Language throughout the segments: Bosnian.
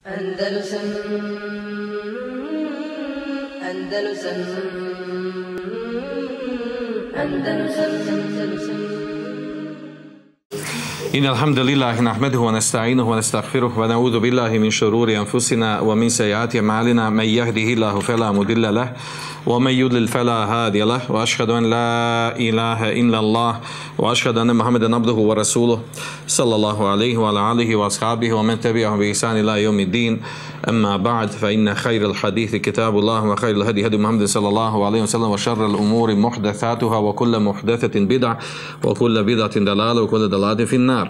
Andalusam Andalusam Andalusam Andalusam إن الحمد لله نحمده ونستعينه ونستغفره ونعوذ بالله من شرور أنفسنا ومن سيئات أعمالنا من يهده الله فلا مضل له ومن يضلل فلا هادي له وأشهد أن لا إله إلا الله وأشهد أن محمدا عبده ورسوله صلى الله عليه وعلى آله وأصحابه ومن تبعهم بإحسان إلى يوم الدين أما بعد فإن خير الحديث كتاب الله وخير الهدي هدي محمد صلى الله عليه وسلم وشر الأمور محدثاتها وكل محدثة بدعة وكل بدعة ضلالة وكل ضلالة في النار.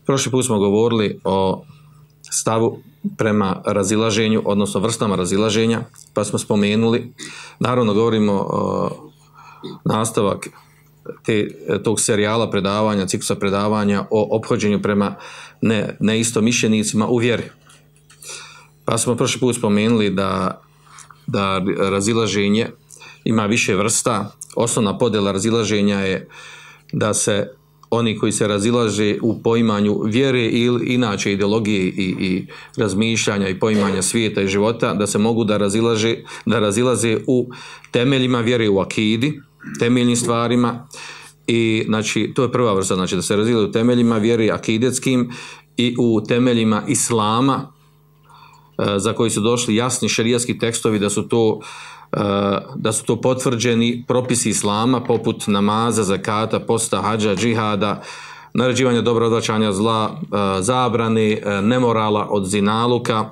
Prošli put smo govorili o stavu prema razilaženju, odnosno vrstama razilaženja, pa smo spomenuli, naravno govorimo o nastavak tog serijala predavanja, ciklusa predavanja o ophođenju prema neistomišljenicima u vjeri. Pa smo prošli put spomenuli da razilaženje ima više vrsta. Osnovna podjela razilaženja je da se oni koji se razilaže u poimanju vjere ili inače ideologije i razmišljanja i poimanja svijeta i života, da se mogu da razilaze u temeljima vjere, u akidi, temeljnim stvarima. I znači to je prva vrsta, znači da se razilaze u temeljima vjere akidetskim i u temeljima islama za koji su došli jasni šerijatski tekstovi da su to potvrđeni propisi islama poput namaza, zakata, posta, hadža, džihada, naređivanja dobra, odvraćanja zla, zabrane, nemorala od zinaluka,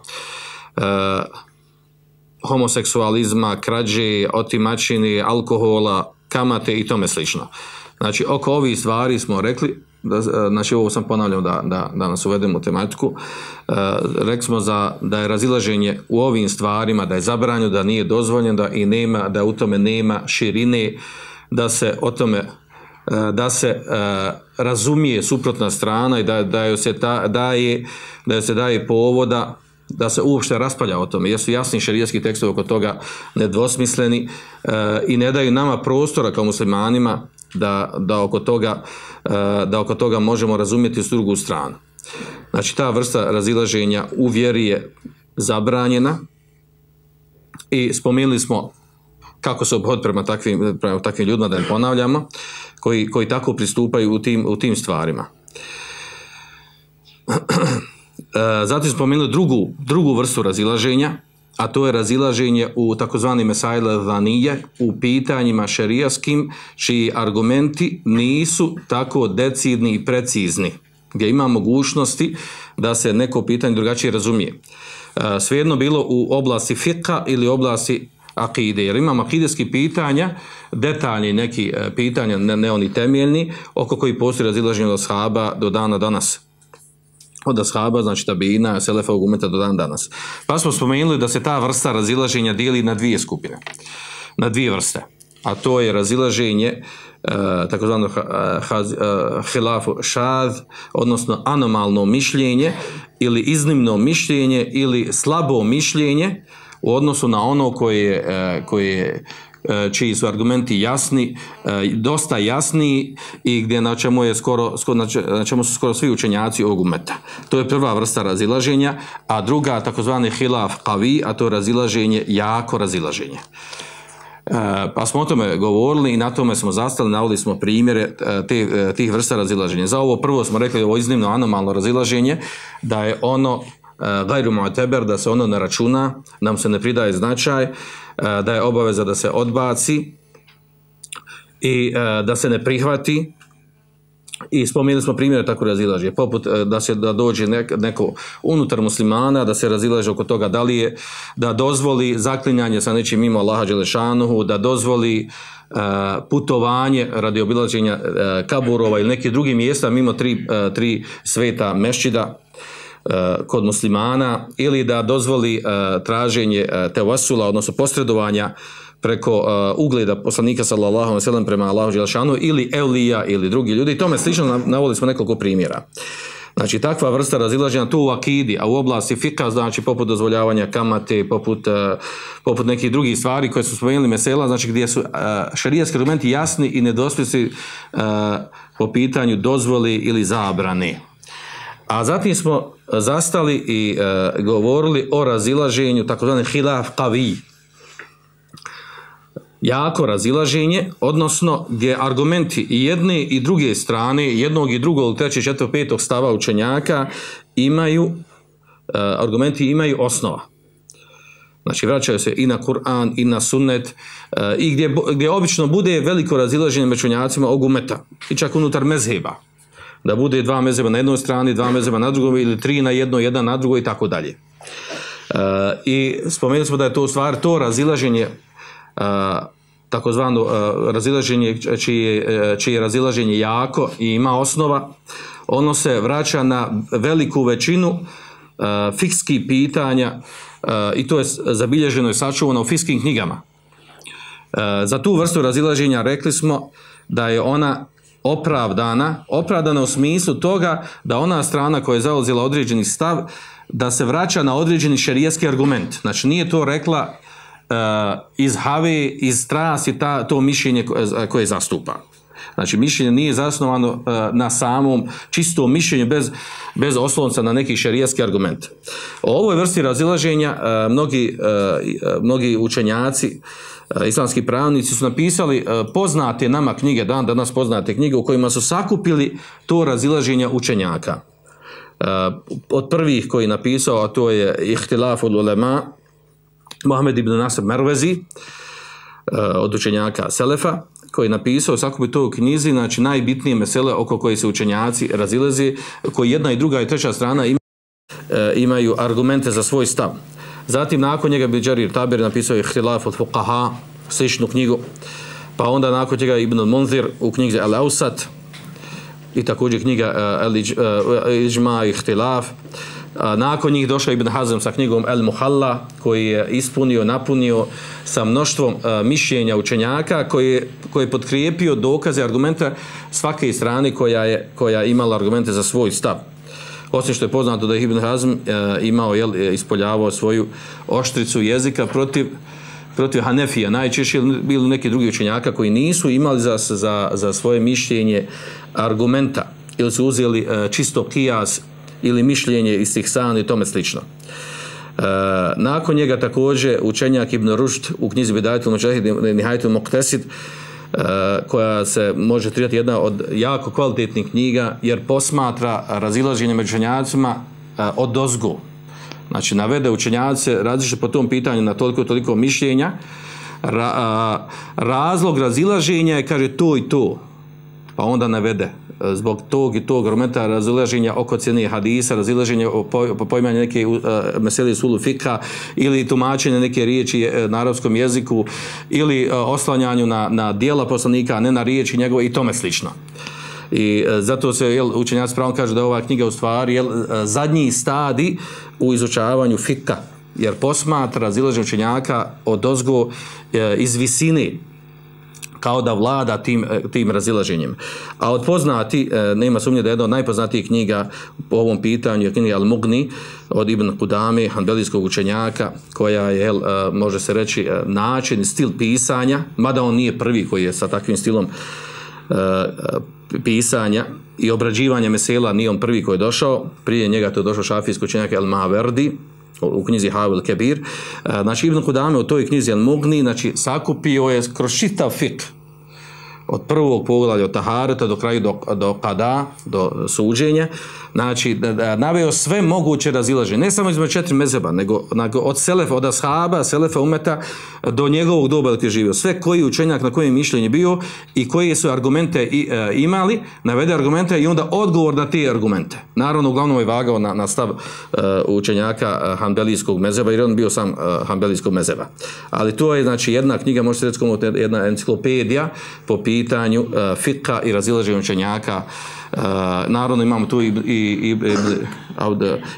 homoseksualizma, krađe, otimačine, alkohola, kamate i tome slično. Znači oko ovih stvari smo rekli, znači ovo sam ponavljao da nas uvedemo u tematiku, rekli smo da je razilaženje u ovim stvarima, da je zabranjeno, da nije dozvoljeno, da u tome nema širine, da se o tome razumije suprotna strana i da joj se daje povoda da se uopšte raspravlja o tome, jer su jasni šerijatski tekstovi oko toga nedvosmisleni i ne daju nama prostora kao muslimanima da oko toga možemo razumjeti s drugu stranu. Znači ta vrsta razilaženja u vjeri je zabranjena i spomenuli smo kako se obhod prema takvim ljudima, da ne ponavljamo, koji tako pristupaju u tim stvarima. Zatim spomenuli drugu vrstu razilaženja, a to je razilaženje u takozvani mesail al-dhanije, u pitanjima šerijaskim, čiji argumenti nisu tako decidni i precizni, gdje ima mogućnosti da se neko pitanje drugačije razumije. Svejedno bilo u oblasti fiqha ili oblasti akide, jer imamo akideskih pitanja, detaljni neki pitanja, ne oni temeljni, oko koji postoji razilaženje od ashaba do dana danas. Od ashaba, znači tabina, selefa umeta do dan danas. Pa smo spomenuli da se ta vrsta razilaženja dijeli na dvije skupine, na dvije vrste. A to je razilaženje takozvano hilafu šad, odnosno anomalno mišljenje ili iznimno mišljenje ili slabo mišljenje u odnosu na ono čiji su argumenti jasni, dosta jasni i gdje na čemu su skoro svi učenjaci ovog umeta. To je prva vrsta razilaženja, a druga takozvani hilaf qavi, a to je razilaženje, jako razilaženje. Pa smo o tome govorili i na tome smo zastali, navodili smo primjere tih vrsta razilaženja. Za ovo prvo smo rekli ovo iznimno anomalno razilaženje, da je ono gajru mu'teber, da se ono ne računa, nam se ne pridaje značaj, da je obaveza da se odbaci i da se ne prihvati. I spomenuli smo primjere tako razilaženja, poput da dođe neko unutar muslimana, da se razilaže oko toga da dozvoli zaklinjanje sa nečim mimo Allaha dželešanuhu, da dozvoli putovanje radi obilaženja kaburova ili nekih drugih mjesta mimo tri sveta mešćida kod muslimana, ili da dozvoli traženje tevasula, odnosno posredovanja preko ugleda poslanika sallallahu alejhi ve sellem prema Allahu dželešanu ili evlija ili drugi ljudi. I tome slično navodili smo nekoliko primjera. Znači takva vrsta razilaženja tu u akidi, a u oblasti fika, znači poput dozvoljavanja kamate, poput nekih drugih stvari koje su spomenuli mesela, znači gdje su šerijatski argumenti jasni i nedvosmisleni po pitanju dozvoli ili zabrane. A zatim smo zastali i govorili o razilaženju, takozvani hilaf qavi. Jako razilaženje, odnosno gdje argumenti i jedne i druge strane, jednog i drugog, trećeg, četvrtog, petog stava učenjaka argumenti imaju osnova. Znači vraćaju se i na Kur'an i na sunnet i gdje obično bude veliko razilaženje među učenjacima ovog umeta i čak unutar mezheba. Da bude dva mezheba na jednoj strani, dva mezheba na drugoj ili tri na jednoj, jedan na drugoj i tako dalje. I spomenuli smo da je to u stvari to razilaženje takozvano razilaženje čije razilaženje jako i ima osnova, ono se vraća na veliku većinu fikskih pitanja i to je zabilježeno i sačuvano u fikskim knjigama. Za tu vrstu razilaženja rekli smo da je ona opravdana u smislu toga da ona strana koja je zauzela određeni stav da se vraća na određeni šerijatski argument. Znači nije to rekla iz have, iz strasti to mišljenje koje zastupa. Znači mišljenje nije zasnovano na samom čistom mišljenju bez oslonca na neki šerijatski argument. O ovoj vrsti razilaženja mnogi učenjaci, islamski pravnici su napisali poznate nama knjige, danas poznate knjige u kojima su sakupili to razilaženja učenjaka. Od prvih koji je napisao, a to je Ihtilaful ulema, Mohamed ibn Nasr Mervezi, od učenjaka Selefa, koji je napisao sakupiti to u knjizi, znači najbitnije mesele oko koje se učenjaci razilaze, koji jedna i druga i treća strana imaju argumente za svoj stav. Zatim nakon njega bi Đarir Taberi napisao Ihtilaf od Fuqaha, sličnu knjigu, pa onda nakon njega Ibn al-Munzir u knjizi Al-Ausat i također knjiga Iđma i Ihtilaf. Nakon njih došao Ibn Hazm sa knjigom El-Muhalla koji je napunio sa mnoštvom mišljenja učenjaka koji je potkrijepio dokaze, argumente svake strane koja je imala argumente za svoj stav. Osim što je poznato da je Ibn Hazm ispoljavao svoju oštricu jezika protiv Hanefija, najčešće bili neki drugi učenjaka koji nisu imali za svoje mišljenje argumenta ili su uzeli čisto kijas ili mišljenje istihsan i tome slično. Nakon njega također učenjak Ibn Rušd u knjizi Bidajatul Muđahid i Nihajatul Muqtasid, koja se može tretirati jedna od jako kvalitetnih knjiga jer posmatra razilaženje među učenjacima odozgo. Znači navede učenjaci različite po tom pitanju na toliko mišljenja. Razlog razilaženja je, kaže, to i to. Pa onda navede zbog tog i tog argumenta razilaženja oko cijene hadisa, razilaženja po poimanju neke mesele usulu fikha ili tumačenje neke riječi na arapskom jeziku ili oslanjanju na djela poslanika, a ne na riječi njegove i tome slično. I zato se učenjaci pravom kažu da je ova knjiga u stvari zadnji stadij u izučavanju fikha, jer posmatra razilaženje učenjaka odozgo iz visine, kao da vlada tim razilaženjem. A od poznati, nema sumnje da je jedna od najpoznatijih knjiga po ovom pitanju je knjiga Al-Mughni od Ibn Qudame, hanbelijskog učenjaka, koja je, može se reći, način, stil pisanja, mada on nije prvi koji je sa takvim stilom pisanja i obrađivanja mesela, nije on prvi koji je došao, prije njega to je došao šafijski učenjak El-Maverdi, u knjizi Havil Kebir. Znači Ibn Qudame u toj knjizi Al-Mughni, znači sakupio je kroz čitav fiqh od prvog poglavlja od tahareta do kraju do kada, do suđenja, znači naveo sve moguće razilaženje, ne samo između 4 mezheba, nego od selefa, od ashaba, selefa umeta do njegovog doba gdje je živio. Sve koji učenjak na kojem mišljenje bio i koje su argumente imali, navede argumente i onda odgovor na te argumente. Naravno, uglavnom je vagao na stav učenjaka hanbelijskog mezheba, jer on bio sam hanbelijskog mezheba. Ali to je, znači, jedna knjiga, možete reći kao jedna enciklopedija po pitanju fiqha i razilaženja učenjaka. Naravno imamo tu i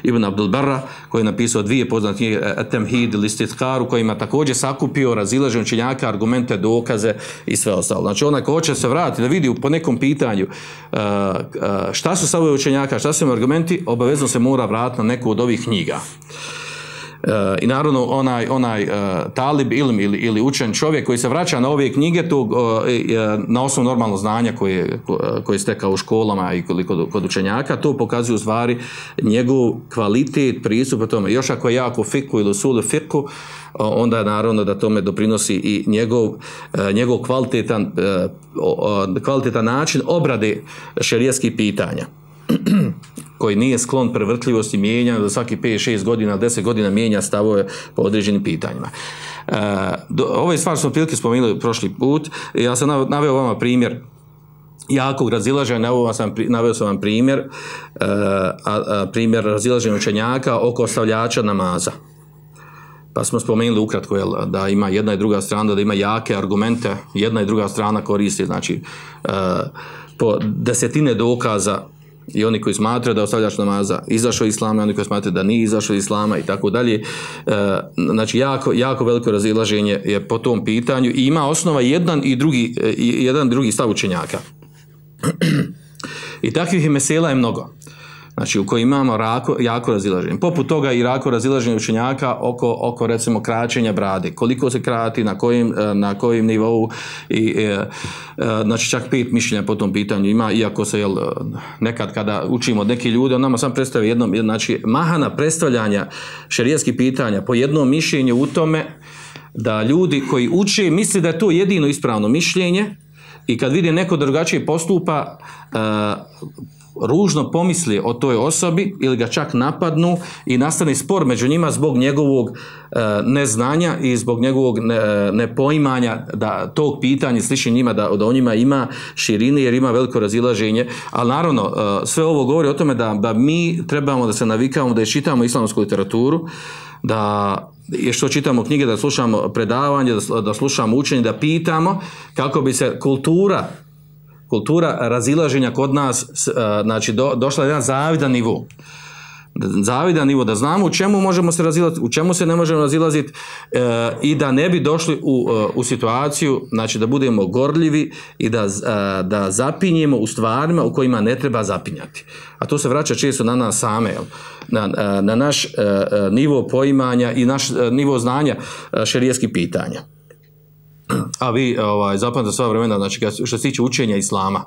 Ibn Abdul Barra koji je napisao 2 poznate knjige At-Tamhid ili Istidkar, u kojima također sakupio razilaženje učenjaka, argumente, dokaze i sve ostalo. Znači onaj ko hoće se vratiti da vidi po nekom pitanju šta su stavovi učenjaka, šta su argumenti, obavezno se mora vratiti na neku od ovih knjiga. I naravno onaj talib ilm ili učen čovjek koji se vraća na ove knjige na osnovu normalno znanja koje je stekao u školama i kod učenjaka, to pokazuje u stvari njegov kvalitet pristupa tome. Još ako je jako fiku ili usul fiku, onda je naravno da tome doprinosi i njegov kvalitetan način obrade šerijskih pitanja koji nije sklon prevrtljivosti mijenja, da svaki 5-6 godina, 10 godina mijenja stavove po određenim pitanjima. Ove stvari smo prilike spomenuli prošli put. Ja sam naveo vama primjer jakog razilaženja, naveo sam vam primjer razilaženja učenjaka oko ostavljača namaza. Pa smo spomenuli ukratko da ima jedna i druga strana, da ima jake argumente, jedna i druga strana koristi, znači po desetine dokaza, i oni koji smatraju da je ostavljač namaza izašao iz islama, i oni koji smatraju da nije izašao iz islama i tako dalje. Znači jako veliko razilaženje je po tom pitanju i ima osnova jedan drugi stav učenjaka. I takvih mesela je mnogo. Znači u kojima imamo jako razilaženje. Poput toga i jako razilaženje učenjaka oko recimo kraćenja brade. Koliko se krati, na kojem nivou, znači čak 5 mišljenja po tom pitanju ima, iako se nekad kada učimo od neki ljudi, on nama sam predstavlja jednom, znači mahana predstavljanja šerijskih pitanja po jednom mišljenju u tome da ljudi koji uče misle da je to jedino ispravno mišljenje i kad vidi neko drugačije postupa, ružno pomisli o toj osobi ili ga čak napadnu i nastane spor među njima zbog njegovog neznanja i zbog njegovog nepoimanja da tog pitanja sliči njima, da o njima ima širine jer ima veliko razilaženje. Ali naravno sve ovo govori o tome da mi trebamo da se navikamo, da čitamo islamsku literaturu, da što čitamo knjige, da slušamo predavanje, da slušamo učenje, da pitamo kako bi se kultura razilaženja kod nas znači došla na jedan zavidan nivo, da znamo u čemu možemo se razilaziti, u čemu se ne možemo razilaziti i da ne bi došli u situaciju, znači da budemo gorljivi i da zapinjemo u stvarima u kojima ne treba zapinjati. A to se vraća često na nas same, na naš nivo poimanja i naš nivo znanja šerijskih pitanja. A vi zapamtite sva vremena, znači što se tiče učenja islama,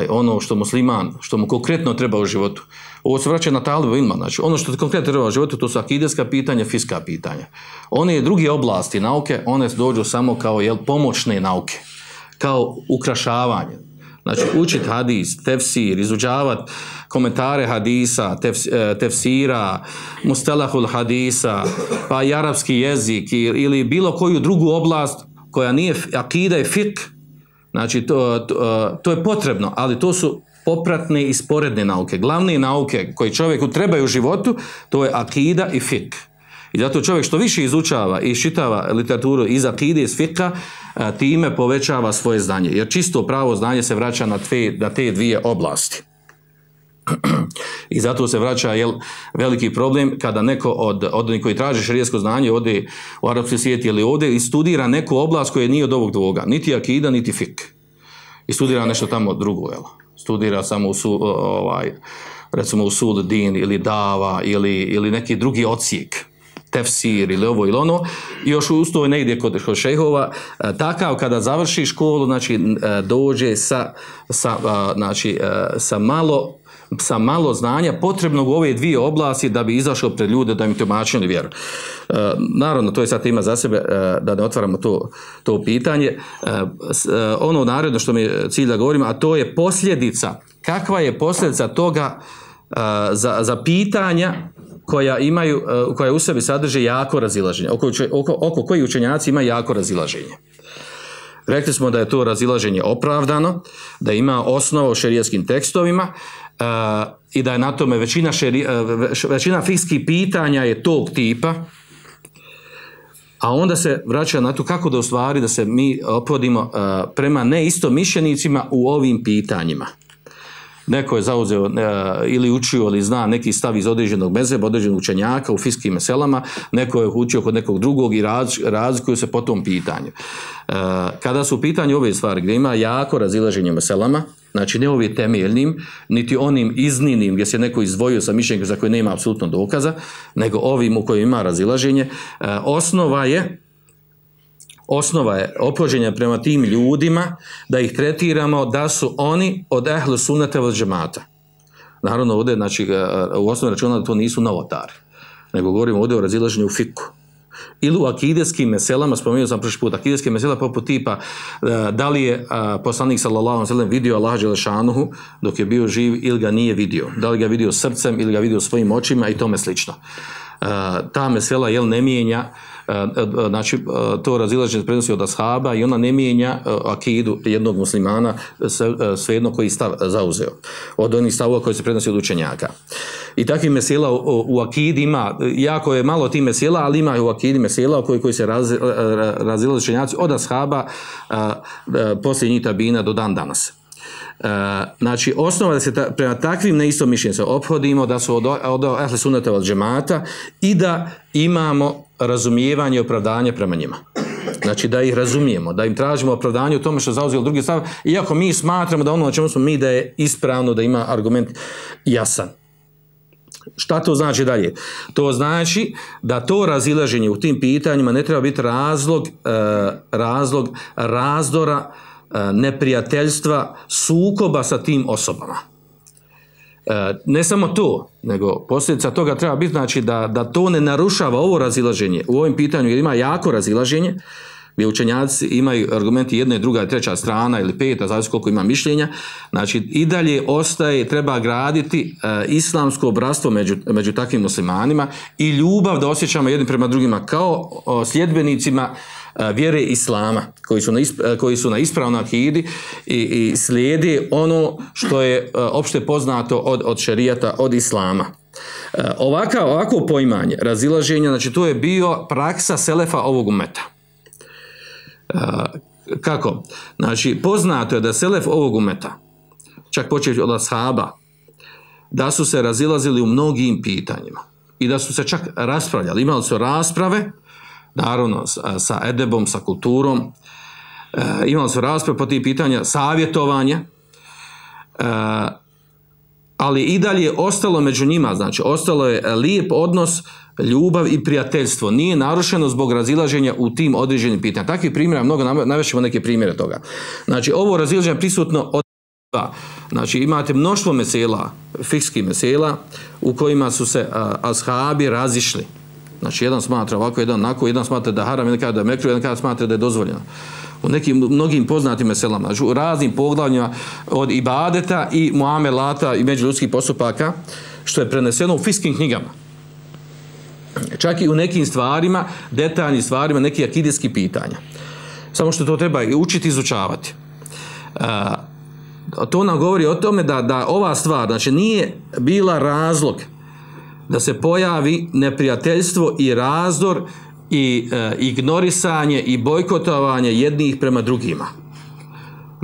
ono što musliman, što mu konkretno treba u životu, ovo se vraća na talibu ilma, znači ono što konkretno treba u životu, to su akideska pitanja, fiska pitanja. One druge oblasti nauke, one dođu samo kao pomoćne nauke, kao ukrašavanje. Znači učiti hadis, tefsir, izučavati komentare hadisa, tefsira, mustelahul hadisa, pa i arapski jezik ili bilo koju drugu oblast koja nije akida i fik, znači to je potrebno, ali to su popratne i sporedne nauke. Glavne nauke koje čovjeku trebaju u životu, to je akida i fik. I zato čovjek što više izučava i čitava literaturu iz akide, iz fika, time povećava svoje znanje. Jer čisto pravo znanje se vraća na te dvije oblasti. I zato se vraća veliki problem kada neko od onih koji traži šerijsko znanje ode u arapski svijet ili ode i studira neku oblast koja nije od ovog dvoga. Niti akida, niti fik. I studira nešto tamo drugo. Studira samo recimo usul din ili dava ili neki drugi odsjek. Tefsir ili ovo ili ono, i još usto negdje kod šejhova, takav kada završi školu, znači dođe sa malo znanja potrebnog u ove dvije oblasti da bi izašao pred ljude, da im tumačili vjeru. Naravno, to je sad tema za sebe, da ne otvaramo to pitanje. Ono naredno što mi je cilj da govorimo, a to je posljedica. Kakva je posljedica toga za pitanja koja u sebi sadrže jako razilaženje, oko koji učenjaci ima jako razilaženje. Rekli smo da je to razilaženje opravdano, da ima osnovu u šerijskim tekstovima i da je na tome većina fikskih pitanja je tog tipa, a onda se vraća na to kako da ostvari da se mi ophodimo prema neistomišljenicima u ovim pitanjima. Neko je zauzeo ili učio ili zna neki stav iz određenog mezheba, određenog učenjaka u fikskim meselama, neko je učio kod nekog drugog i razlikuju se po tom pitanju. Kada su u pitanju ove stvari gdje ima jako razilaženje meselama, znači ne ovim temeljnim, niti onim iznimnim gdje se neko izdvojio sa mišljenjem za koje nema apsolutno dokaza, nego ovim u kojima ima razilaženje. Osnova je ophođenja prema tim ljudima da ih tretiramo da su oni od ehlu sunnata vel džemata. Naravno ovdje, znači, u osnovi računa da to nisu novotari, nego govorimo ovdje o razilaženju u fiku. Ili u akideskim meselama, spomenuo sam prošli put, akideske mesela poput tipa da li je poslanik sallallahu alejhi ve sellem vidio Allaha dželešanuhu dok je bio živ ili ga nije vidio, da li ga vidio srcem ili ga vidio svojim očima i tome slično. Ta mesela ne mijenja, znači to razilaženje prenosi od ashaba i ona ne mijenja akidu jednog muslimana svejedno koji stav zauzeo od onih stavova koji se prenosi od učenjaka. I takvih mesela u akidi ima, jako je malo tih mesela, ali ima u akidi mesela koji se razilaze učenjaci od ashaba poslije njih tabina do dan danas. Znači osnova da se prema takvim neistomišljenim se ophodimo, da su od ehli sunnata vel džemata i da imamo razumijevanje i opravdanje prema njima. Znači da ih razumijemo, da im tražimo opravdanje u tome što zauzeli drugi stav, iako mi smatramo da ono na čemu smo mi da je ispravno, da ima argument jasan. Šta to znači dalje? To znači da to razilaženje u tim pitanjima ne treba biti razlog razdora, neprijateljstva, sukoba sa tim osobama. Ne samo to, nego posljedica toga treba biti, znači da to ne narušava ovo razilaženje. U ovim pitanju jer ima jako razilaženje, gdje učenjaci imaju argumenti jedna i druga i treća strana ili peta, zavisi koliko ima mišljenja, znači i dalje ostaje, treba graditi islamsko bratstvo među takvim muslimanima i ljubav da osjećamo jednim prema drugima kao sljedbenicima vjere islama, koji su na ispravnoj akidi i slijedi ono što je opšte poznato od šerijata, od islama. Ovako poimanje razilaženja, znači to je bio praksa selefa ovog umeta. Kako? Znači poznato je da selef ovog umeta, čak počeći od ashaba, da su se razilazili u mnogim pitanjima i da su se čak raspravljali, imali su rasprave, naravno sa edebom, sa kulturom, imali su rasprave po tih pitanja, savjetovanje, ali i dalje ostalo među njima, znači ostalo je lijep odnos, ljubav i prijateljstvo. Nije narušeno zbog razilaženja u tim određenim pitanjima. Takvih primjera mnogo, navešćemo neke primjere toga. Znači ovo razilaženje prisutno od znači imate mnoštvo mesela, fikskih mesela, u kojima su se ashabi razišli. Znači jedan smatra ovako, jedan onako, jedan smatra da haram, jedan kada da je mekruh, jedan kada smatra da je dozvoljeno. U nekim mnogim poznatim meselama, znači u raznim poglavljima od ibadeta i muamelata i međuljudskih postupaka, što je preneseno u fikskim knjigama. Čak i u nekim stvarima, detaljnim stvarima, nekih akideskih pitanja. Samo što to treba učiti, izučavati. To nam govori o tome da ova stvar, znači nije bila razlog da se pojavi neprijateljstvo i razdor i ignorisanje i bojkotovanje jednih prema drugima.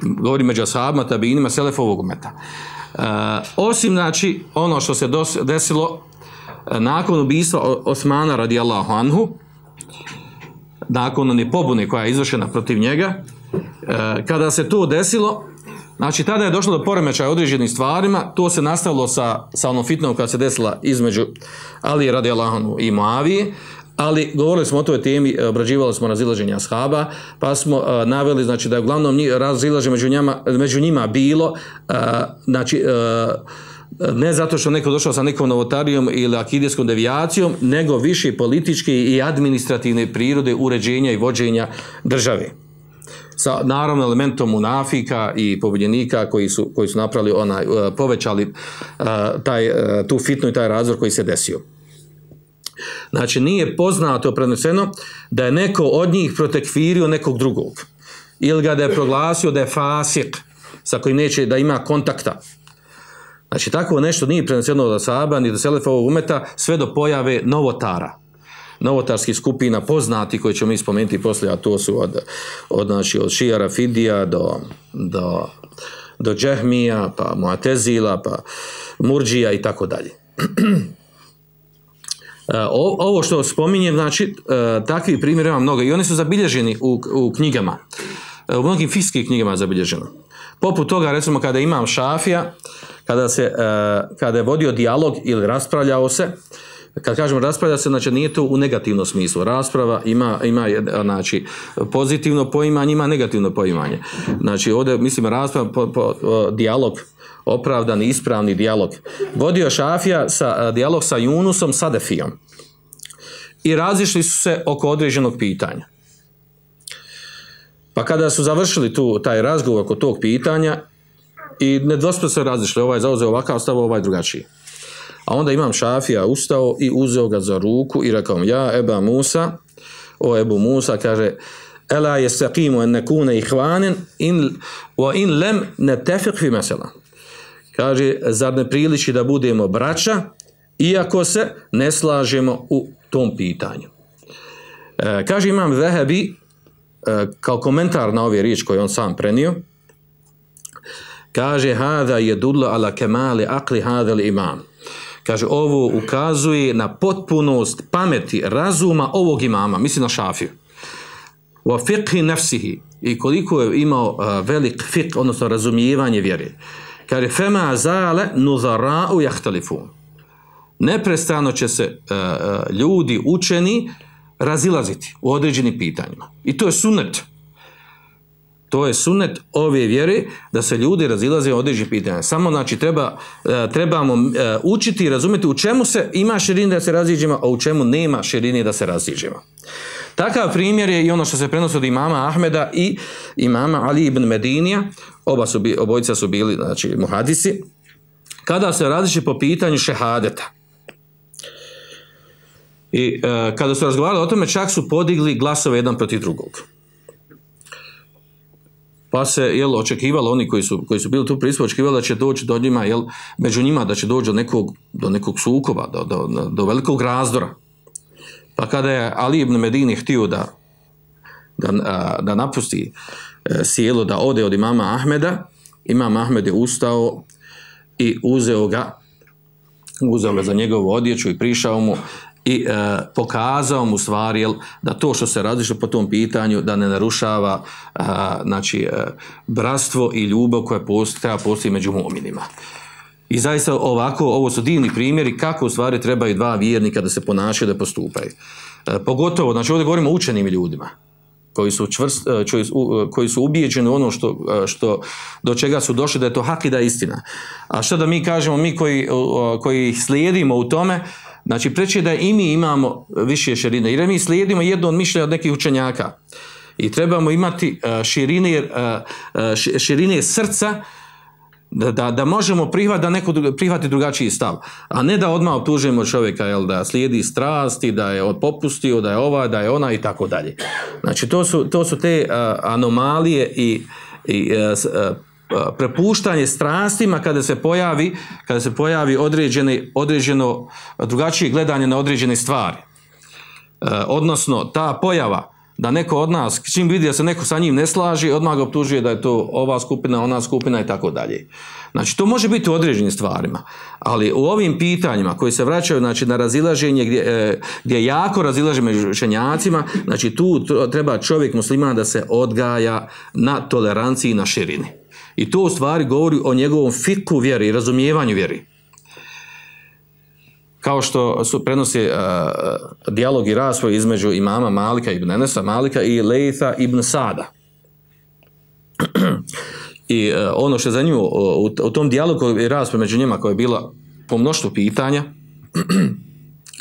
Govori među ashabima, tabinima, selefovog umeta. Osim, znači, ono što se desilo nakon ubistva Osmana radijallahu anhu, nakon one pobune koja je izvršena protiv njega, kada se to desilo, znači tada je došlo do poremećaja određenim stvarima, to se nastavilo sa onom fitnom koja se desila između Ali radijallahu anhu i Muavije, ali govorili smo o toj temi, obrađivali smo razilaženje ashaba, pa smo naveli, znači da je uglavnom razilaženje među njima bilo, znači ne zato što neko došao sa nekom novotarijom ili akidijskom devijacijom, nego više političke i administrativne prirode uređenja i vođenja države. Sa naravno elementom munafika i pobjednika koji su napravili povećali tu fitnu i taj razdor koji se desio. Znači nije poznato preneseno da je neko od njih protekfirio nekog drugog ili ga da je proglasio da je fasik sa kojim neće da ima kontakta. Znači tako nešto nije preneseno od ashaba ni do selefa ovog umeta sve do pojave novotarskih skupina poznati koji ćemo mi spomenuti poslije, a to su od šija Rafidija do Džehmija, pa Mu'tezila, pa Murdžija i tako dalje. Ovo što spominjem, znači takvi primjeri ima mnogo i oni su zabilježeni u knjigama, u mnogim fikskim knjigama je zabilježeno. Poput toga, recimo, kada imam Šafija, kada je vodio dijalog ili raspravljao se, kad kažemo raspravlja se, znači nije to u negativnom smislu. Rasprava ima znači, pozitivno poimanje, ima negativno poimanje. Znači ovdje, mislim, rasprava, dijalog, opravdani, ispravni dijalog. Vodio Šafija dijalog sa Yunusom Sadefijom. I razišli su se oko određenog pitanja. Pa kada su završili taj razgovor oko tog pitanja, i nedvosmisleno se razišli, ovaj zauzeo ovakav stav, ovaj drugačiji. A onda imam Šafija ustao i uzeo ga za ruku i rekao mu, ja Eba Musa, o Ebu Musa, kaže, ela yastaqimu an nakuna ikhwanan wa in lam nattafiq fi masala. Kaže, zar ne priliči da budemo braća, iako se ne slažemo u tom pitanju. Kaže imam Zahabi, kao komentar na ove riječi koje on sam prenio, kaže, hada yadullu ala kamali aqli hada al-imam. Kaže, ovo ukazuje na potpunost pameti, razuma ovog imama, misli na Šafiju. Wa fiqhi nafsihi, i koliko je imao velik fiqh, odnosno razumijevanje vjere. Kaže, fema zale nuzara'u jahtalifun. Neprestano će se ljudi učeni razilaziti u određenim pitanjima. I to je sunnet. To je sunnet ove vjere, da se ljudi razilaze u određenih pitanja. Samo, znači, trebamo učiti i razumjeti u čemu se ima širini da se raziđemo, a u čemu nema širini da se raziđemo. Takav primjer je i ono što se prenosi od imama Ahmeda i imama Ali ibn Medinija, obojica su bili, znači, muhadisi, kada se raziđe po pitanju šehadeta. I kada su razgovarali o tome, čak su podigli glasove jedan protiv drugog. Pa se očekivalo, oni koji su bili tu prisutni, očekivalo da će doći do njima, među njima da će doći do nekog sukoba, do velikog razdora. Pa kada je Ali ibn Medini htio da napusti sjelo, da ode od imama Ahmeda, imam Ahmed je ustao i uzeo ga za njegovu odjeću i prišao mu i pokazao mu stvari da to što se različe po tom pitanju da ne narušava znači, bratstvo i ljubav koja treba postoji među mu'minima. I zaista ovo su divni primjeri kako u stvari trebaju dva vjernika da se ponašaju, da postupaju. Pogotovo, znači ovdje govorimo o učenim ljudima koji su ubijeđeni u ono do čega su došli, da je to hak i da je istina. A što da mi kažemo, mi koji slijedimo u tome, znači preče da i mi imamo više širine, jer mi slijedimo jedno od mišljenja od nekih učenjaka i trebamo imati širine srca da možemo prihvatiti drugačiji stav, a ne da odmah optužujemo čovjeka da slijedi strasti, da je popustio, da je ova, da je ona i tako dalje. Znači to su te anomalije i prepuštanje strastima kada se pojavi određeno drugačije gledanje na određene stvari. Odnosno ta pojava da neko od nas, čim vidi da se neko sa njim ne slaži, odmah ga optužuje da je to ova skupina, ona skupina i tako dalje. Znači to može biti u određenim stvarima, ali u ovim pitanjima koji se vraćaju, znači, na razilaženje gdje jako razilaže među učenjacima, znači tu treba čovjek musliman da se odgaja na toleranciji i na širini. I to u stvari govori o njegovom fiku vjeri i razumijevanju vjeri. Kao što su prenosi dijalog i raspravu između imama Malika ibn Enesa Malika i Lejtha ibn Sada. I ono što je zanimljivo u tom dijalogu i raspravu među njima koja je bila po mnoštvu pitanja,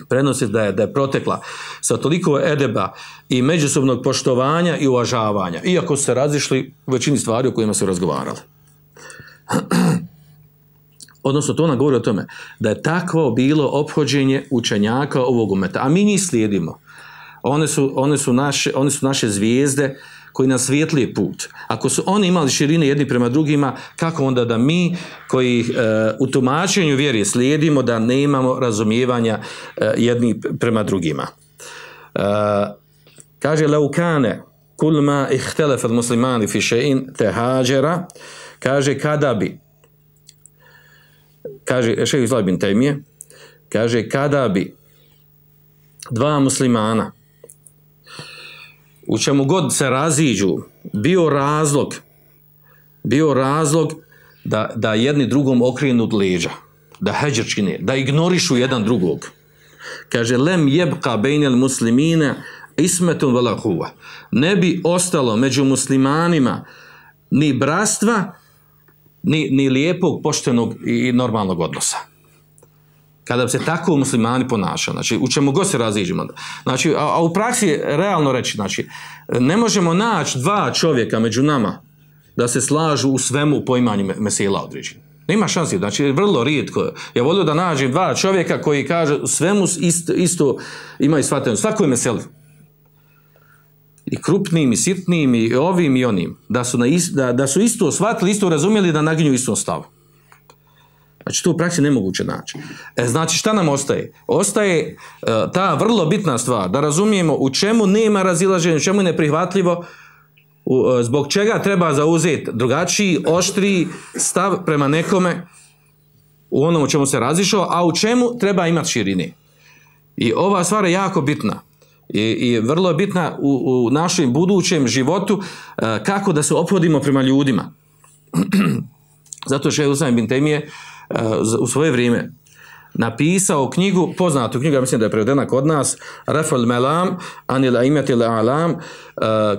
prenosi da je protekla sa toliko edeba i međusobnog poštovanja i uvažavanja, iako su se razišli u većini stvari o kojima su razgovarali. Odnosno, to nam govori o tome da je takvo bilo ophođenje učenjaka ovog umeta, a mi njih slijedimo. One su naše zvijezde koji nas svijetlije put. Ako su oni imali širine jedni prema drugima, kako onda da mi koji u tumačenju vjeri slijedimo da ne imamo razumijevanja jedni prema drugima. Kaže Laukane kul ma ihtelefa muslimani fi še'in tehađera, kaže kada bi, kaže šejh Islam ibn Tejmije, kaže kada bi dva muslimana u čemu god se raziđu bio razlog bio razlog da jedni drugom okrenu leđa, da heđer čine, da ignorišu jedan drugog. Kaže, lem jebka bejnel muslimine ismetun vala huva. Ne bi ostalo među muslimanima ni bratstva, ni lijepog, poštenog i normalnog odnosa. Kada bi se tako muslimani ponašali, znači u čemu god se raziđemo. Znači, a u praksi realno reći, znači, ne možemo naći dva čovjeka među nama da se slažu u svemu u poimanju mesela određenja. Nema šansi, znači vrlo rijetko. Ja volio da nađem dva čovjeka koji kaže svemu isto imaju shvatanje, svakoj meseli. I krupnim, i sitnim, i ovim, i onim. Da su isto shvatili, isto razumjeli da naginju istom stavu. Znači, to u praksi nemoguće naći. Znači, šta nam ostaje? Ostaje ta vrlo bitna stvar, da razumijemo u čemu nema razilaženja, u čemu je neprihvatljivo, zbog čega treba zauzeti drugačiji, oštriji stav prema nekome u onom u čemu se razišao, a u čemu treba imati širine. I ova stvar je jako bitna. I vrlo je bitna u našem budućem životu kako da se ophodimo prema ljudima. Zato Šejh Islam ibn Tejmije u svoje vrijeme napisao knjigu, poznatu knjigu, ja mislim da je prevedena kod nas, Raf'ul Malam anil a'immatil a'lam,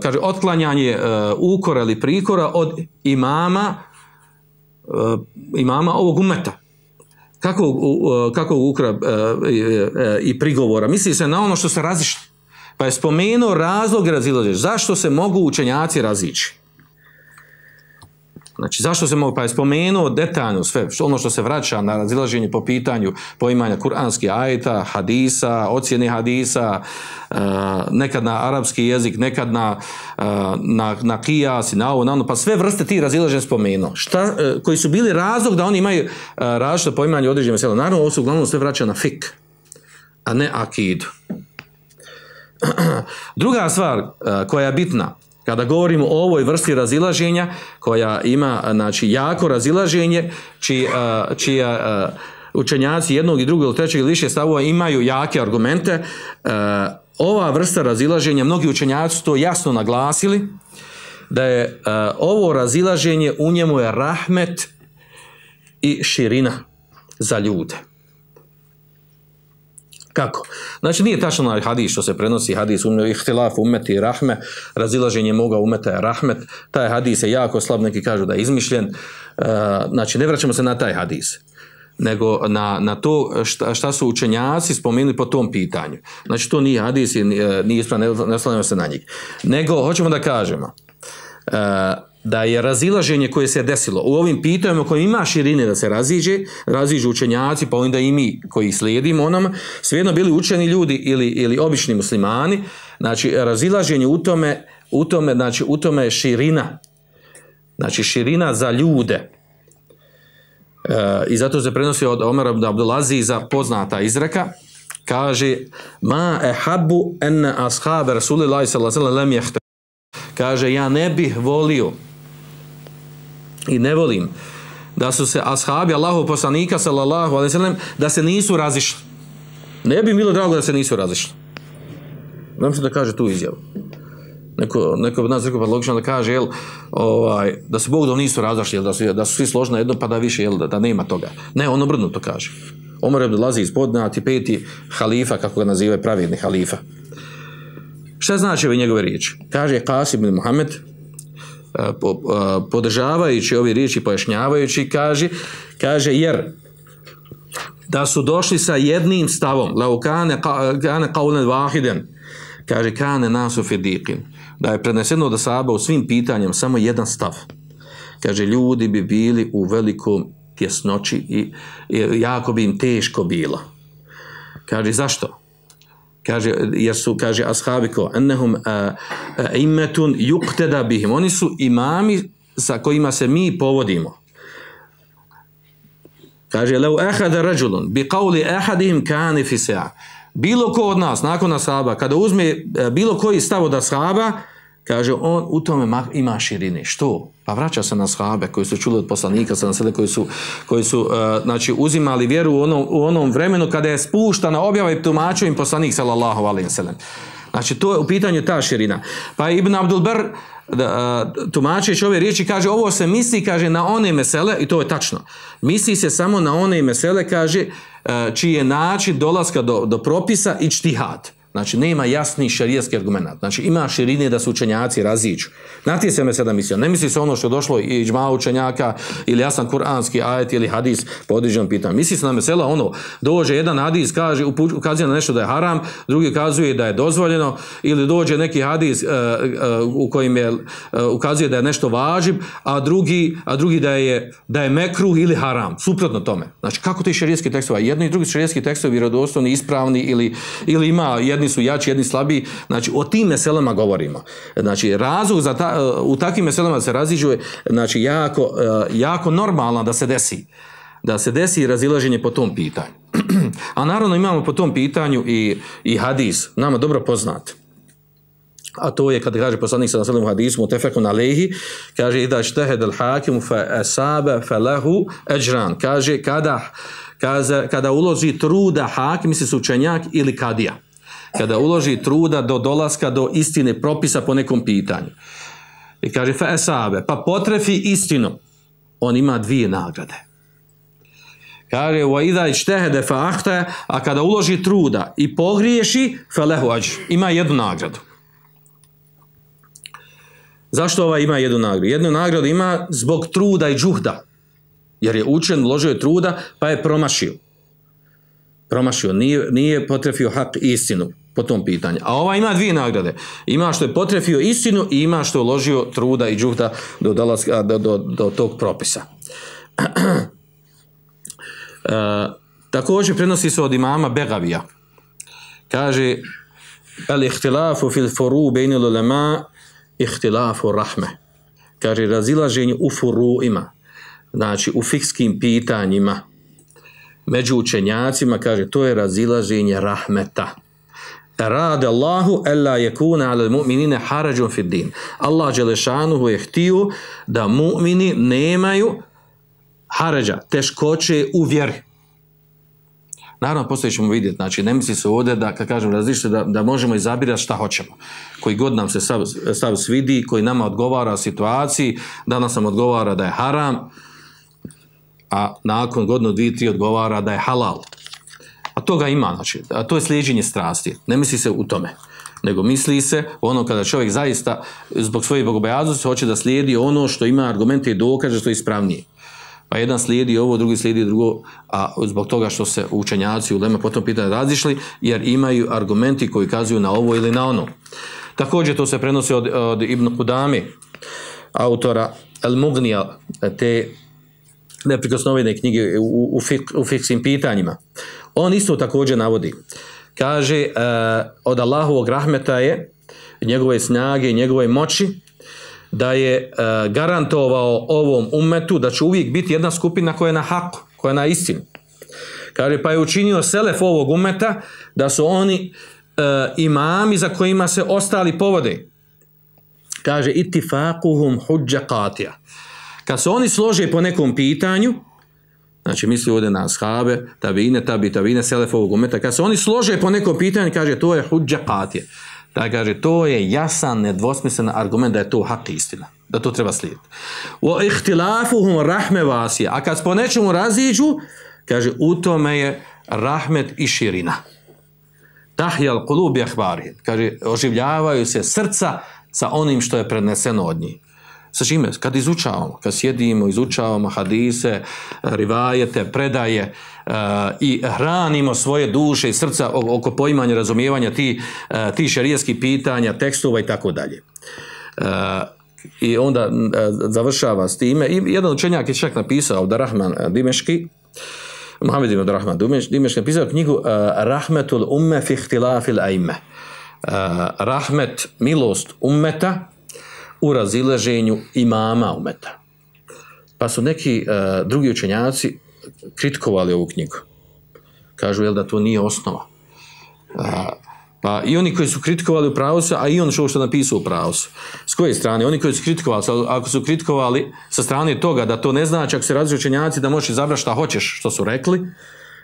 kaže otklanjanje ukora ili prikora od imama ovog ummeta. Kakvog ukora i prigovora? Misli se na ono što se razišlo. Pa je spomenuo razlog razilaženja. Zašto se mogu učenjaci razići? Znači, zašto se mogu, pa je spomenuo detaljno sve, ono što se vraća na razilaženje po pitanju poimanja kuranskih ajeta, hadisa, ocjene hadisa, nekad na arapski jezik, nekad na kijas i na ovo, pa sve vrste tih razilaženja spomenuo. Koji su bili razlog da oni imaju različito poimanje određene mesela. Naravno, ovo se uglavnom sve vraća na fik, a ne akidu. Druga stvar koja je bitna, kada govorimo o ovoj vrsti razilaženja, koja ima, znači, jako razilaženje, čija učenjaci jednog i drugog ili trećeg ili više stavova imaju jake argumente, ova vrsta razilaženja, mnogi učenjaci to jasno naglasili, da je ovo razilaženje, u njemu je rahmet i širina za ljude. Kako? Znači, nije tačno onaj hadis što se prenosi, hadis ihtilaf ummeti i rahme, razilaženje moga ummeta je rahmet, taj hadis je jako slab, neki kažu da je izmišljen, znači ne vraćamo se na taj hadis, nego na to šta su učenjaci spomenuli po tom pitanju. Znači, to nije hadis i nije ispravno, ne oslanjamo se na njih. Nego, hoćemo da kažemo, da je razilaženje koje se desilo u ovim pitanjima koje ima širine da se raziđu učenjaci, pa onda i mi koji slijedimo onama, svejedno bili učeni ljudi ili obični muslimani, znači razilaženje u tome je širina, znači širina za ljude. I zato se prenosi od Omara ibn Abdulaziza poznata izreka, kaže ma ehabbu enne ashabe Rasulillahi sallallahu alejhi ve sellem lem jehte. Kaže, ja ne bih volio i ne volim da su se ashabi Allahov poslanika sallallahu alejhi ve sellem da se nisu razišli. Ne bi bilo drago da se nisu razišli. Znam što da kaže tu izjavu. Neko od nas rekao, pa logično da kaže, da se Bog da nisu razišli, da su svi složni na jedno, pa da više, da nema toga. Ne, on obrnuto kaže. Omar ibn Abdulaziz poznati peti halifa, kako ga nazivaju, pravedni halifa. Šta znači ove njegove riječi? Kaže Qasim ibn Muhammed, podržavajući ove riječi, pojašnjavajući, kaže jer da su došli sa jednim stavom, lau kane qawlan wahidan, kaže kane nasu fi diqin, da je preneseno da sahaba u svim pitanjima samo jedan stav. Kaže, ljudi bi bili u velikom tjesnoći i jako bi im teško bilo. Kaže, zašto? Kaže, jer su, kaže, ashabi ko ennehum immetun yuqtada bihim. Oni su imami sa kojima se mi povodimo. Kaže, lau ahada rajulun bi qawli ahadihim kane fi sa'a. Bilo ko od nas, nakon ashaba, kada uzme bilo koji stav od ashaba, kaže, on u tome ima širine. Što? Pa vraća se na ashabe koji su čuli od poslanika, koji su znači, uzimali vjeru u onom vremenu kada je spuštana objava i tumačio im poslanik sallallahu alejhi ve sellem. Znači, to je u pitanju ta širina. Pa Ibn Abdul Bar tumačeći ove riječi, kaže ovo se misli, kaže na one mesele, i to je tačno. Misli se samo na one mesele, kaže, čiji je način dolaska do propisa i ijtihad. Znači, nema jasni šerijatski argument. Znači, ima širine da su učenjaci raziđu. Na ti se mesela misli. Ne misli se ono što je došlo i džma učenjaka ili jasan kuranski ajet ili hadis po određenom pitanju. Misli se na mesela ono, dođe jedan hadis, kaže, ukazuje na nešto da je haram, drugi ukazuje da je dozvoljeno, ili dođe neki hadis u kojim je ukazuje da je nešto važib, a drugi da je mekruh ili haram. Suprotno tome. Znači, kako ti šerijatski tekstovi? Jedni i drugi šerijatski tekstovi vjerodostojni, ispravni ili ima jedni su jači, jedni slabiji. Znači, o tim meselama govorimo. Znači, razlog u takvim meselama se raziđuje, znači, jako normalno da se desi razilaženje po tom pitanju. A naravno imamo po tom pitanju i hadis, nama dobro poznat. A to je kada kaže poslanik sallallahu alejhi ve sellem u hadisu mutefekun alejhi, kaže idha ijtahada al-hakim fa asaba falahu ajran. Kaže kada uloži truda hakim, misli se učenjak ili kadija. Kada uloži truda do dolaska do istine propisa po nekom pitanju. I kaže fa asabe, pa potrefi istinu, on ima 2 nagrade. Kaže wa idha ijtahada fa akhta, a kada uloži truda i pogriješi falahu ajr, ima 1 nagradu. Zašto ovaj ima 1 nagradu? 1 nagradu ima zbog truda i džuhda. Jer je učen, uložio je truda, pa je promašio, nije potrefio hak istinu po tom pitanju. A ova ima 2 nagrade. Ima što je potrefio istinu i ima što je uložio truda i džuhda do tog propisa. Također prenosi se od imama Begavija. Kaže al-ihtilafu fil furu bejnil ulema ihtilafu rahme. Kaže razilaženje u furuima, znači u fikskim pitanjima među učenjacima, kaže to je razilaženje rahmeta. Rade Allahu alla yakuna ala al-mu'minina harajun fi din. Allah dželešanuhu je htio da mu'mini nemaju harađa, teškoće u vjeri. Naravno, poslije ćemo vidjeti, znači ne misli se ovdje da, kad kažem različite, da možemo izabirati šta hoćemo. Koji god nam se stav svidi, koji nama odgovara situaciji, danas nam odgovara da je haram, a nakon godinu, 2, 3 odgovara da je halal. A toga ima, znači, a to je slijeđenje strasti. Ne misli se u tome, nego misli se ono kada čovjek zaista zbog svoje bogobojaznosti hoće da slijedi ono što ima argumente i dokaže što je ispravnije. Pa jedan slijedi ovo, drugi slijedi drugo, a zbog toga što se učenjaci u uleme potom pitanje razišli, jer imaju argumenti koji kazuju na ovo ili na ono. Također to se prenosi od Ibn Kudami, autora Al-Mugnija, te neprikosnovene knjige u fikskim pitanjima. On isto također navodi. Kaže, od Allahovog rahmeta je, njegove snage i njegove moći, da je garantovao ovom ummetu da će uvijek biti jedna skupina koja je na haku, koja je na istinu. Kaže, pa je učinio selef ovog ummeta da su oni imami za kojima se ostali povode. Kaže, ittifaquhum hudja qatija. Kad se oni slože po nekom pitanju, znači misli ovdje na ashabe, tabiine, selef ovog ummeta, kad se oni slože po nekom pitanju, kaže, to je hudja qatija. Da kaže, to je jasan, nedvosmislen argument da je to hak istina, da to treba slijediti. Wa ihtilafuhum rahme vasija. A kad po nečemu raziđu, kaže, u tome je rahmet i širina. Tahjal qulub ahbarihim. Kaže, oživljavaju se srca sa onim što je predneseno od njih. Sa čime? Kad izučavamo, kad sjedimo, izučavamo hadise, rivajete, predaje i hranimo svoje duše i srca oko poimanja, razumijevanja ti šerijskih pitanja, tekstova i tako dalje. I onda završava s time. I jedan učenjak je čak napisao, Abdurrahman Dimeški, Muhammed ibn Abdurrahman Dimeški, napisao knjigu Rahmetul umme fi ihtilafil aime. Rahmet, milost ummeta u razilaženju imama umeta. Pa su neki drugi učenjaci kritikovali ovu knjigu. Kažu, jel da to nije osnova. Pa i oni koji su kritikovali u pravu su, a i on što napisao u pravu su. S koje strane? Oni koji su kritikovali, ako su kritikovali sa strane toga da to ne znači, ako se različite učenjaci da možeš izabrati šta hoćeš, što su rekli,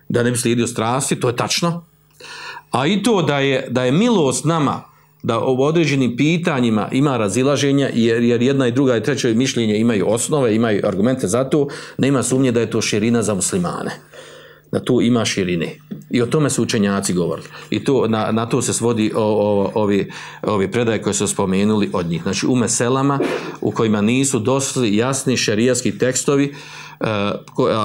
da ne bi slijedio strasti, to je tačno. A i to da je milost nama da u određenim pitanjima ima razilaženja, jer jedna i druga i treća mišljenje imaju osnove, imaju argumente za to, nema sumnje da je to širina za muslimane. Da tu ima širine. I o tome su učenjaci govorili. I to, na to se svodi ovi predaje koje su spomenuli od njih. Znači u meselama u kojima nisu došli jasni šerijatski tekstovi,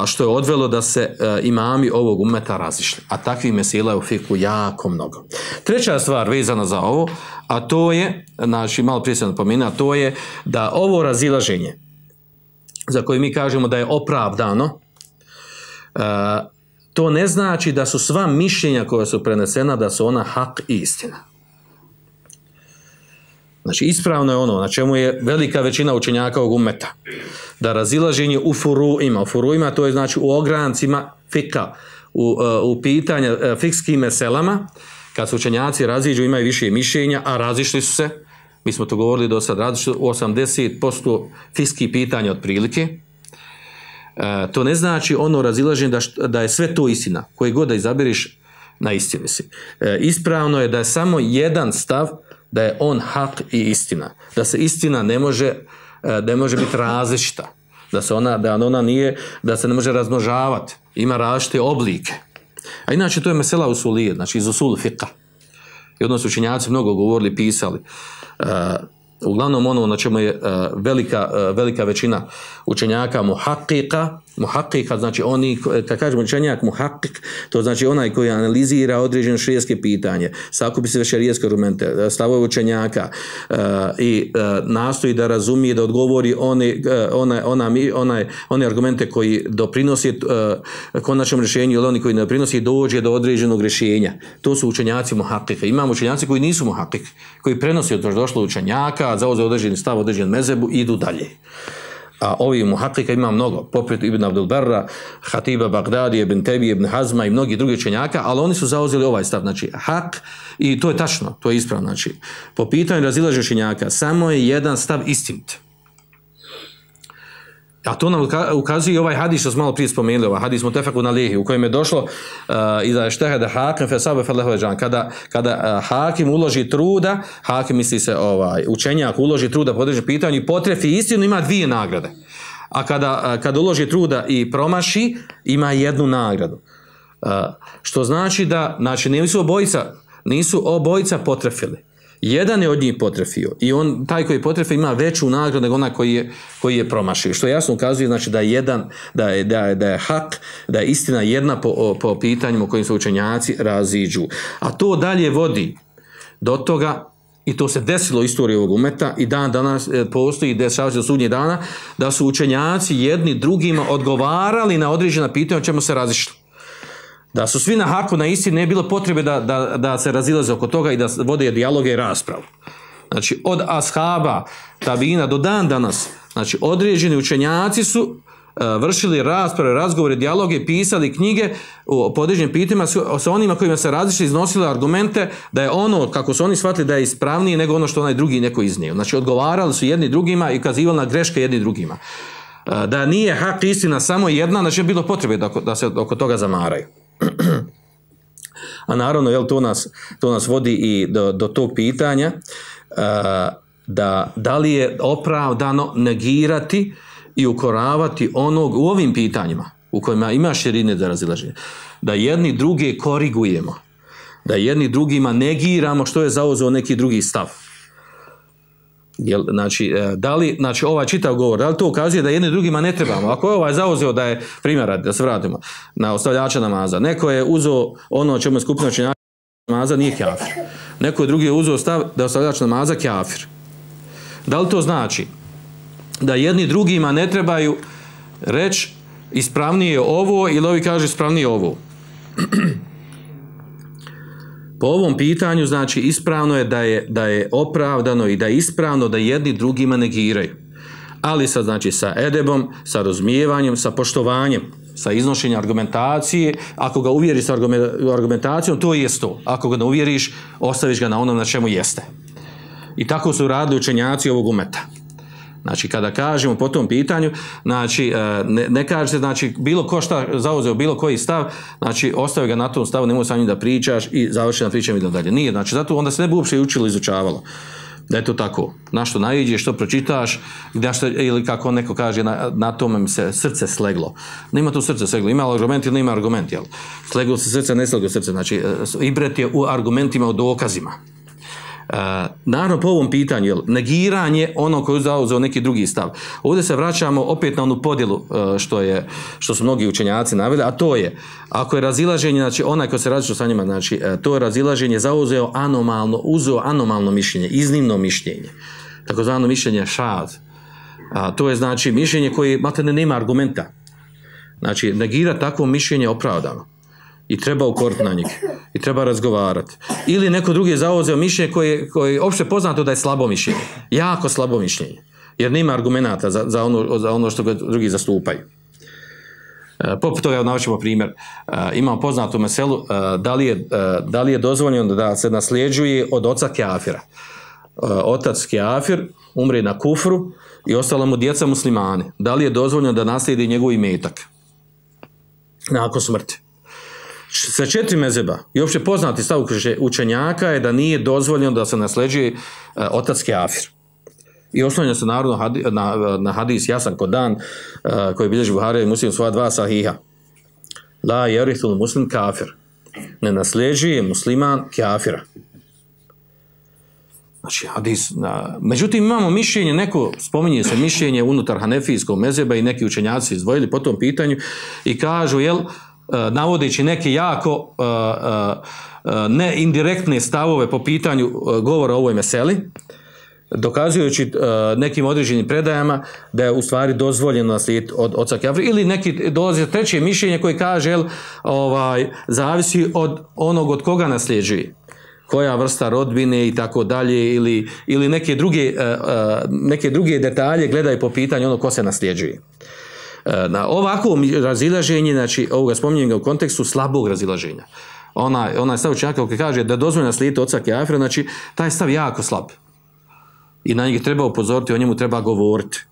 što je odvelo da se imami ovog ummeta razišli. A takvih mesela je u fiku jako mnogo. Treća stvar vezana za ovo, a to je, znači malo prije sam napomenuo, a to je da ovo razilaženje, za koje mi kažemo da je opravdano, to ne znači da su sva mišljenja koja su prenesena, da su ona hak i istina. Znači, ispravno je ono na čemu je velika većina učenjaka ovog ummeta. Da razilaženje u furuima. U furuima to je znači u ograncima fika, u pitanja fikskim meselama, kad su učenjaci raziđu, imaju više mišljenja, a razišli su se, mi smo to govorili do sad, razišli u 80% fikskih pitanja otprilike. To ne znači ono razilaženje da je sve to istina. Koje god da izaberiš, na istini si. Ispravno je da je samo jedan stav, da je on hak i istina. Da se istina ne može biti različita. Da se ne može razmnožavati. Ima različite oblike. A inače to je mesela usulije, znači iz usul fiqha. I odnosno učenjaci mnogo govorili, pisali. Uglavnom ono na čemu je velika većina učenjaka muhaqqiqa, znači oni, kad kažemo učenjak muhaqqiq, to znači onaj koji analizira određeno šerijatsko pitanje, sakupi sve šerijatske argumente, stavove učenjaka i nastoji da razumije, da odgovori one argumente koji doprinosi konačnom rješenju ili oni koji ne doprinosi, dođe do određenog rješenja. To su učenjaci muhaqqiqa. Imamo učenjaci koji nisu muhaqqiq, koji prenosi od došlo učenjaka, zauzeo određeni stav, određen mezebu i idu dalje. A ovi muhaqqiqa ima mnogo, poput Ibn Abdul Barra, Hatiba Bagdadija, Ibn Tebije, Ibn Hazma i mnogi drugi učenjaka, ali oni su zauzeli ovaj stav, znači hak, i to je tačno, to je ispravno, znači po pitanju razilaženja učenjaka samo je jedan stav istinit. A to nam ukazuje i ovaj hadis što smo malo prije spomenuli, ovaj hadis mutefakun alejhi, u kojem je došlo iza ijtehada hakim fa sabe falahu ajran, kada hakim uloži truda, hakim misli se učenjak uloži truda po određenom pitanju i potrefi istinu, ima dvije nagrade. A kada uloži truda i promaši, ima jednu nagradu. Što znači da, znači nisu obojica potrefili. Jedan je od njih potrefio i taj koji je potrefio ima veću nagradu nego onaj koji je promašio. Što jasno ukazuje znači da je hak, da je istina jedna po pitanjima u kojim se učenjaci raziđu. A to dalje vodi do toga, i to se desilo u istoriji ovog umeta i dan danas postoji, dešava se do sudnjeg dana, da su učenjaci jedni drugima odgovarali na određena pitanja o čemu se razišli. Da su svi na haku, na istini, ne je bilo potrebe da se razilaze oko toga i da vode dijaloge i raspravu. Znači, od ashaba, tabina do dan danas, znači, određeni učenjaci su vršili rasprave, razgovore, dijaloge, pisali knjige po određenim pitanjima sa onima kojima se razišli, iznosili argumente da je ono, kako su oni shvatili, da je ispravnije nego ono što onaj drugi neko iznio. Znači, odgovarali su jedni drugima i ukazivali na greške jedni drugima. Da nije hak istina samo jedna, znači je bilo potrebe da se oko toga zamaraju. A naravno, to nas vodi i do tog pitanja da li je opravdano negirati i ukoravati onog u ovim pitanjima u kojima ima širine za razilaženje. Da jedni druge korigujemo, da jedni drugima negiramo što je zauzeo neki drugi stav. Znači ovaj čitav govor, da li to ukazuje da jedni drugima ne trebamo? Ako je ovaj zauzeo da je, primjer, da se vratimo na ostavljača namaza, neko je uzeo ono o čemu je skupina učenjaka namaza, nije kafir. Neko je drugi je uzeo stav da je ostavljač namaza kafir. Da li to znači da jedni drugima ne trebaju reći ispravnije ovo ili ovi kaže ispravnije ovo? Po ovom pitanju, znači, ispravno je da je opravdano i da je ispravno da jedni drugima negiraju. Ali znači, sa edebom, sa razumijevanjem, sa poštovanjem, sa iznošenjem argumentacije. Ako ga uvjeriš sa argumentacijom, to je to. Ako ga ne uvjeriš, ostaviš ga na onom na čemu jeste. I tako su radili učenjaci ovog umeta. Znači, kada kažemo po tom pitanju, znači, ne kažete, znači, bilo ko šta zauzeo, bilo koji stav, znači, ostavi ga na tom stavu, nemoj sa njim da pričaš i završena priča idemo dalje. Nije, znači, zato onda se ne bi uopšte učilo, izučavalo. Da je to tako. Na što naiđeš, što pročitaš, ili kako neko kaže, na tome mi se srce sleglo. Nema tu srce sleglo. Ima argument ili nema argument, jel? Sleglo se srce, ne sleglo srce. Znači, ibret je u argumentima, u dokazima. Naravno po ovom pitanju, jel, negiranje ono koji je zauzeo neki drugi stav. Ovdje se vraćamo opet na onu podjelu što su mnogi učenjaci naveli, a to je, ako je razilaženje, znači onaj ko se različio sa njima, znači to je razilaženje uzeo anomalno mišljenje, iznimno mišljenje, takozvano mišljenje šad. To je znači mišljenje koje maltene nema argumenta. Znači negira takvo mišljenje opravdano. I treba ukoriti na njih. I treba razgovarati. Ili neko drugi je zauzeo mišljenje koje je opšte poznato da je slabo mišljenje. Jako slabo mišljenje. Jer nema argumenata za ono što drugi zastupaju. Poput toga navečemo primjer. Imamo poznatu meselu da li je dozvoljeno da se nasljeđuje od oca kafira. Otac kafir umre na kufru i ostala mu djeca muslimani. Da li je dozvoljeno da naslijedi njegov imetak nakon smrti? Sa 4 mezeba i uopšte poznati stav učenjaka je da nije dozvoljeno da se nasljeđuje otac kafir. I oslanja se naravno na hadis jasan kod dan koji bilježi Buharija i Muslim svoja 2 sahiha. La yarithul muslim kafir. Ne nasljeđuje musliman kafira. Znači, hadis. Međutim, imamo mišljenje, neko spominje se mišljenje unutar hanefijskog mezeba i neki učenjaci izdvojili po tom pitanju i kažu, jel, navodeći neke jako ne indirektne stavove po pitanju govora o ovoj meseli, dokazujući nekim određenim predajama da je u stvari dozvoljeno naslijediti od oca kafira, ili neki dolazi treće mišljenje koje kaže, jel, zavisi od onog od koga nasljeđuje, koja vrsta rodbine i tako dalje, ili neke druge detalje gledaju po pitanju ono ko se nasljeđuje. Na ovako razilaženje, znači ovoga spominjem ga u kontekstu slabog razilaženja. Onaj stav učenjaka koji kaže da dozvoljeno naslijediti oca kafira, znači taj stav jako slab. I na njega treba upozoriti, o njemu treba govoriti.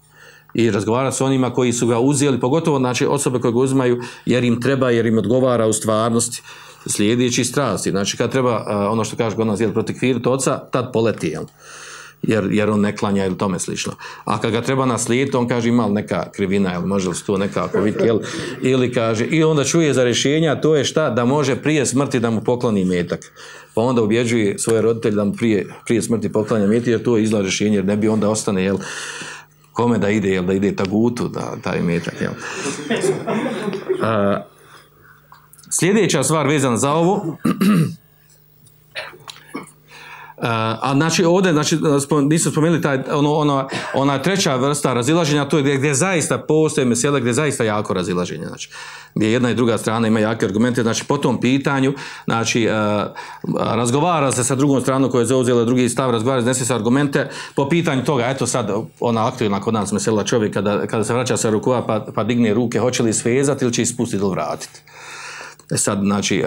I razgovarati s onima koji su ga uzeli, pogotovo znači osobe koje ga uzimaju jer im odgovara u stvarnosti, slijedeći strasti. Znači kad treba, ono što kaže kod nas, protekviriti oca, tad poleti, jel? Jer on ne klanja ili tome slično. A kad ga treba naslijediti, on kaže ima li neka krivina, jel, može li se to nekako vidjeti, jel, ili kaže, i onda čuje za rješenja, to je šta, da može prije smrti da mu pokloni imetak. Pa onda ubjeđuje svoje roditelje da mu prije smrti poklanja imetak, jer to je izlaz rješenje, jer ne bi onda ostane, jel, kome da ide, jel, da ide tagutu, taj imetak, jel. Sljedeća stvar vezana za ovo, a znači ovdje, znači nismo spomenuli ona treća vrsta razilaženja, to je gdje zaista postoje mesele, gdje zaista jako razilaženje, znači gdje jedna i druga strana ima jake argumente, znači po tom pitanju, znači razgovara se sa drugom stranom koja je zauzela drugi stav, razgovara se sa argumente po pitanju toga, eto sad ona aktualna kod nas mesela čovjek kada se vraća sa rukova pa digne ruke, hoće li svezati ili će ispustiti ili vratiti. Sad, znači,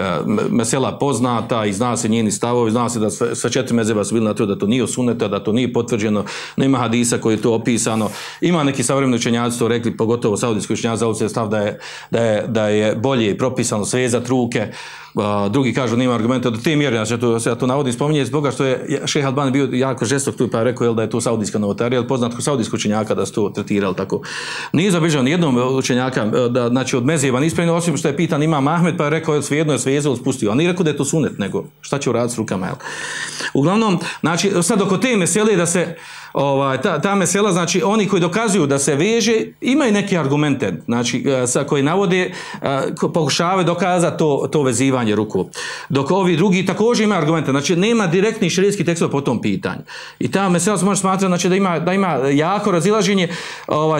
mesela poznata i zna se njeni stavovi, zna se da sve 4 mezheba su bili na to da to nije suneta, da to nije potvrđeno, nema hadisa koji je to opisano. Ima neki savremeni učenjaci to rekli, pogotovo saudijski učenjaci zauzeli stav da je bolje propisano svezati ruke. Drugi kažu nema argumenta do te mjere, znači ja to navodim spominje zbog toga što je šejh Albani bio jako žestok tu pa je rekao da je to saudijska novotarija, poznat kod saudijskog učenjaka da su to tretirali tako. Nije zabilježeno jednom učenjaka da, znači od mezheba nispravljeno, osim što je pitan Imam Ahmed pa je rekao svejedno je svezao, spustio, a nije rekao da je to sunet, nego šta će uraditi s rukama, jel? Uglavnom, znači sad oko te mesele da se ta mesela, znači oni koji dokazuju da se veže, imaju neke argumente, znači koji navode, pokušavaju dokazati to vezivanje ruku. Dok ovi drugi također imaju argumente, znači nema direktnih šerijskih tekstova po tom pitanju. I ta mesela se može smatrati, znači da ima jako razilaženje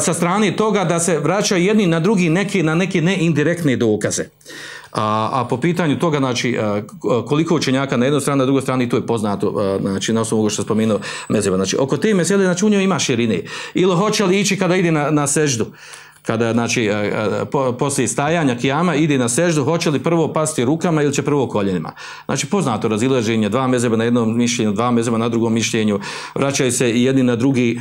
sa strane toga da se vraćaju jedni na drugi na neke neindirektne dokaze. A po pitanju toga, znači, koliko učenjaka na jednoj strani, na drugoj strani, to je poznato, znači, na osnovu što spomenuo mezheba. Znači, oko te mesele, znači, u njoj ima širine. Ili hoće li ići kada ide na seždu. kada znači poslije stajanja kijama ide na seždu, hoće li prvo pasti rukama ili će prvo koljenima. Znači poznato razilaženje, dva mezheba na jednom mišljenju, dva mezheba na drugom mišljenju, vraćaju se i jedni na drugi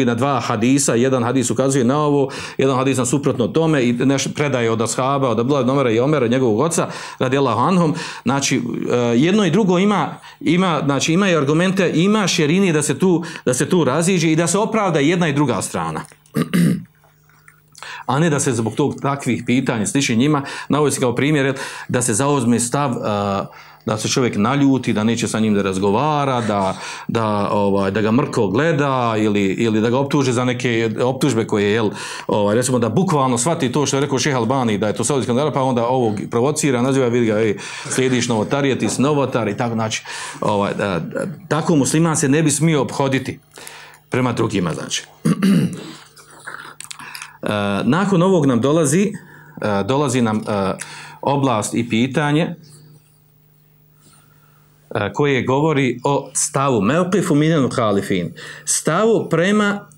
na dva hadisa, jedan hadis ukazuje na ovo, jedan hadis na suprotno tome i predaje od ashaba, od Abdullah ibn Omera i Omera, njegovog oca, radijallahu anhum. Znači jedno i drugo imaju argumente, ima šerini da se tu raziđe i da se opravda jedna i druga strana. A ne da se zbog takvih pitanja sliči njima, navodi se kao primjer da se zauzme stav da se čovjek naljuti, da neće sa njim da razgovara, da ga mrko gleda ili da ga optuže za neke optužbe koje recimo da bukvalno shvati to što je rekao Šejh Albani, da je to saudijski skandal, pa onda ovog provocira, naziva, vidi ga, slijediš novotarije, ti si novotar i tako, znači tako musliman se ne bi smio ophoditi prema drugima, znači. Nakon ovog nam dolazi nam oblast i pitanje koje govori o stavu mevqifu minel muhalifin, stavu prema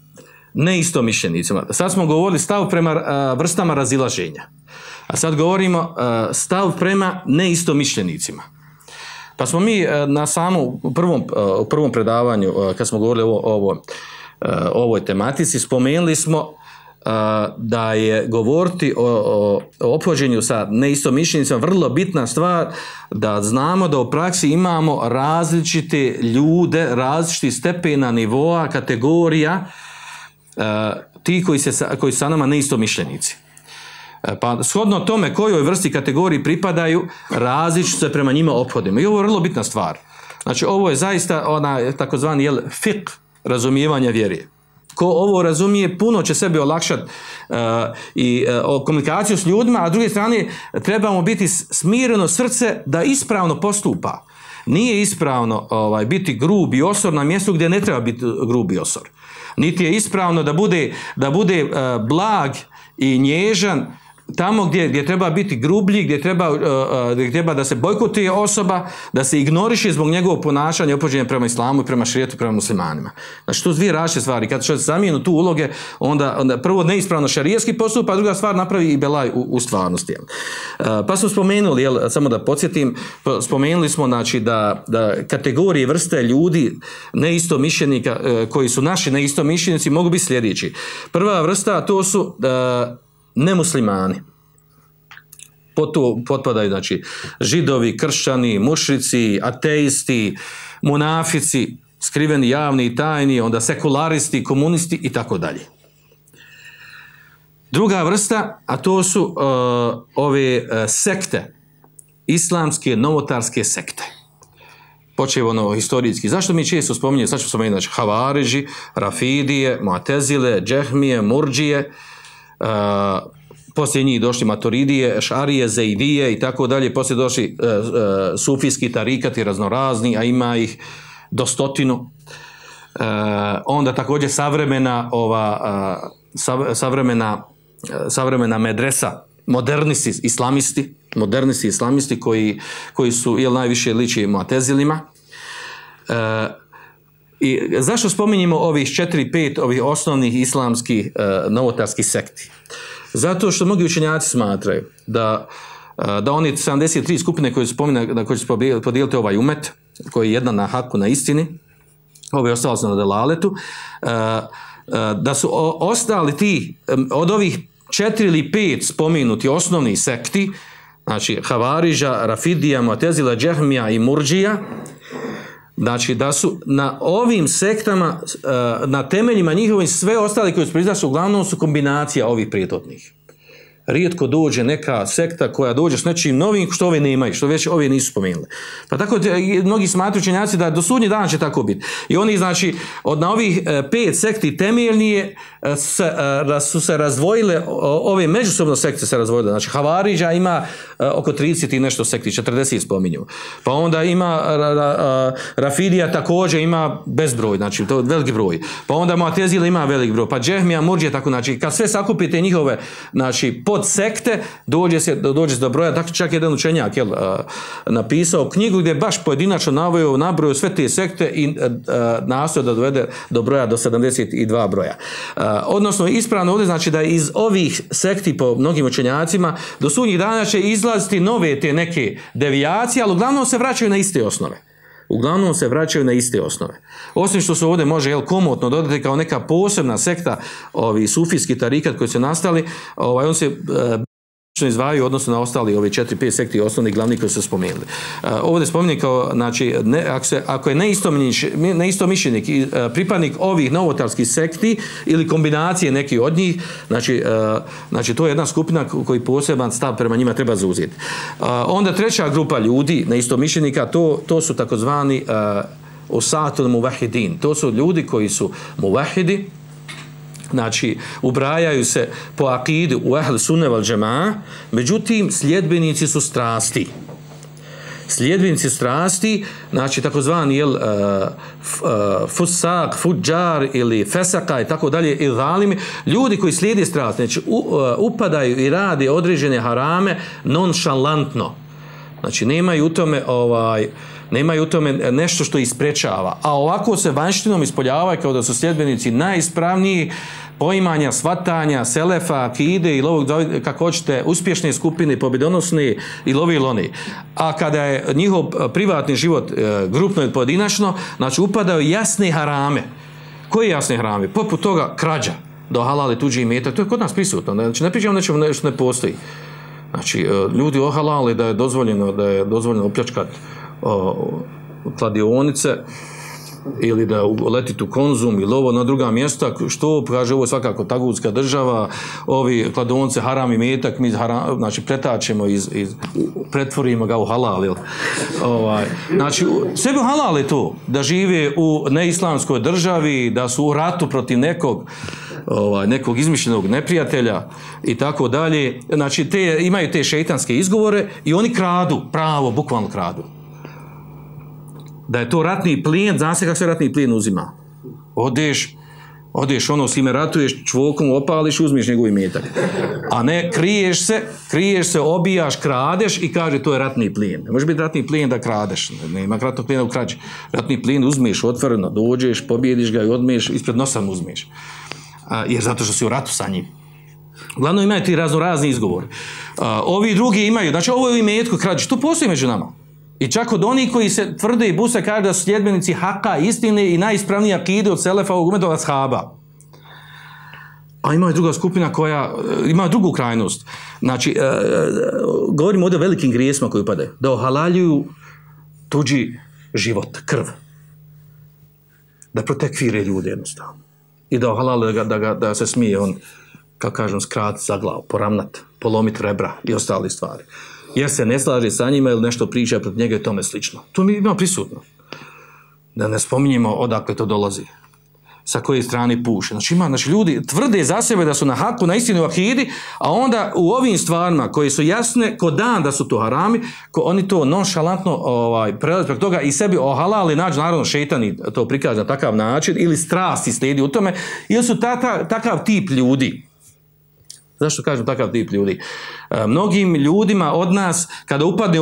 neistomišljenicima. Sad smo govorili stav prema vrstama razilaženja, a sad govorimo stav prema neistomišljenicima. Pa smo mi na samom prvom predavanju, kad smo govorili o ovoj tematici, spomenuli smo da je govoriti o ophođenju sa neistomišljenicima vrlo bitna stvar, da znamo da u praksi imamo različite ljude, različitih stepena, nivoa, kategorija, ti koji su sa nama neistomišljenici. Pa shodno tome kojoj vrsti kategoriji pripadaju, različito se prema njima ophodimo. I ovo je vrlo bitna stvar. Znači ovo je zaista takozvani fiqh razumijevanja vjere. Ko ovo razumije, puno će sebi olakšati komunikaciju s ljudima, a s druge strane trebamo biti smireno srce da ispravno postupa. Nije ispravno biti grub i osor na mjestu gdje ne treba biti grub i osor. Niti je ispravno da bude blag i nježan tamo gdje treba biti grublji, gdje treba da se bojkotuje osoba, da se ignoriše zbog njegovog ponašanja i ophođenja prema islamu i prema šerijetu, prema muslimanima. Znači, to su dvije različite stvari. Kad se zamijenu tu uloge, onda prvo neispravno šerijatski postup, a druga stvar napravi i belaj u stvarnosti. Pa smo spomenuli, samo da podsjetim, spomenuli smo znači, da kategorije vrste ljudi neistomišljenika, koji su naši neistomišljenici, mogu biti sljedeći. Prva vrsta, to su nemuslimani. Potpadaju znači židovi, kršćani, mušrici, ateisti, munafici, skriveni, javni i tajni, onda sekularisti, komunisti i tako dalje. Druga vrsta, a to su ove sekte, islamske novotarske sekte. Počevo historijski. Zašto mi često spominjemo, sad ću spomenuti, znači Havariži, Rafidije, Mu'tezile, Džehmije, Murdžije, poslije njih došli Maturidije, Ešarije, Zeidije i tako dalje, poslije došli sufijski tarikati raznorazni, a ima ih do 100. Onda također savremena medresa, modernisti islamisti koji su najviše liči Mu'tezilima. I zašto spominjemo ovih 4-5 ovih osnovnih islamskih novotarskih sekti? Zato što mnogi učenjaci smatraju da oni 73 skupine koje su na koje će podijeliti ovaj umet, koji je jedna na haku, na istini, ove ostalo su na delaletu, da su ostali ti od ovih 4 ili 5 spomenuti osnovnih sekti, znači Havariža, Rafidija, Mu'tezila, Džehmija i Murdžija, znači da su na ovim sektama, na temeljima njihovim, sve ostali koji su priznaši, uglavnom su kombinacija ovih prijetotnih. Rijetko dođe neka sekta koja dođe s nečim novim što ove nemaju, što već ove nisu spomenuli. Pa tako mnogi smatruju učenjaci da do sudnjeg dana će tako biti. I oni znači na ovih 5 sekti temeljnije su se razdvojile, ove međusobno sekte se razdvojile. Znači Havariđa ima oko 30 i nešto sekti, 40 spominju. Pa onda ima Rafidija također ima bezbroj, znači to je veliki broj. Pa onda Mu'tezila ima velik broj. Pa Džehmija, Murdžija, tako znači kad sve sakupite njihove znači pod sekte dođe se do broja, dakle čak jedan učenjak napisao knjigu gdje je baš pojedinačno nabrojao sve te sekte i nastoje da dovede do broja do 72 broja. Odnosno ispravno ovdje znači da iz ovih sekti po mnogim učenjacima do sudnjih dana će izlaziti nove te neke devijacije, ali uglavnom se vraćaju na iste osnove. Osim što se ovdje može komotno dodati kao neka posebna sekta, ovi sufijski tarikat koji su nastali, on se izdvajaju odnosno na ostali ove 4-5 sekti osnovni glavni koji su spomenuli. Ovdje spominje kao, znači, ako je neistomišljenik i pripadnik ovih novotarskih sekti ili kombinacije neki od njih, znači to je jedna skupina koji poseban stav prema njima treba zauzeti. Onda treća grupa ljudi, neistomišljenika, to su takozvani osatul muvahidin. To su ljudi koji su muvahidi, znači ubrajaju se po akidu u ahl sunne val džemaa, međutim sljedbenici su strasti. Znači takozvani fusak, fudžar ili fesaka i tako dalje, i zalimi, ljudi koji slijede strasti, znači upadaju i rade određene harame nonšalantno. Znači nemaju u tome nešto što isprečava, a ovako se vanjštinom ispoljavaju kao da su sljedbenici najispravniji poimanja, svatanja, selefa, akide i kako hoćete, uspješne skupine, pobjedonosne i lovi loni. A kada je njihov privatni život grupno ili pojedinačno, znači upadaju jasne harame. Koje jasne harame? Poput toga krađa, do halali tuđi imetak, to je kod nas prisutno. Znači ne pričamo nečemu što ne postoji. Znači ljudi ohalali da je dozvoljeno opljačkati kladionice ili da letiti u Konzum ili ovo na druga mjesta, što kaže ovo je svakako tagutska država, ovi kladionice haram imetak, mi znači pretačemo pretvorimo ga u halal. Znači sebi halal je to da žive u neislamskoj državi, da su u ratu protiv nekog izmišljenog neprijatelja i tako dalje. Znači imaju te šeitanske izgovore i oni kradu, pravo, bukvalno kradu. Da je to ratni plijen, zna se kako se ratni plijen uzima. Odeš s ime ratuješ, čvokom opališ, uzmiš njegov imetak. A ne, kriješ se, obijaš, kradeš i kaže to je ratni plijen. Ne može biti ratni plijen da kradeš, nema ratnog plijena u krađi. Ratni plijen uzmeš otvoreno, dođeš, pobjediš ga i odmiješ, ispred nosa mu uzmeš. Jer zato što si u ratu sa njim. Uglavnom imaju ti razni izgovori. Ovi drugi imaju, znači ovo je u imetku krađi, to postoji među nama. I čak od onih koji se tvrde i buse kaže da su sljedbenici haka, istine i najispravnije akide od selefa ovog umeta od ashaba. A ima i druga skupina koja ima drugu krajnost. Znači, govorimo ovdje o velikim grijesima koji upadaju. Da ohalaljuju tuđi život, krv. Da protekvire ljude jednostavno. I da ohalale da se smije on, kako kažem, skratiti za glavu, poravnati, polomiti rebra i ostale stvari. Jer se ne slaže sa njima ili nešto priča protiv njega i tome slično. To mi ima prisutno. Da ne spominjemo odakle to dolazi. Sa koje strane puše. Znači ljudi tvrde za sebe da su na haku, na istini u akidi, a onda u ovim stvarima koje su jasne ko dan da su to harami, oni to nonšalantno prelaze preko toga i sebi ohalali, nađu naravno šejtani to prikaže na takav način ili strasti slijedi u tome, ili su takav tip ljudi. Zašto kažem takav tip ljudi? Mnogim ljudima od nas, kada upadne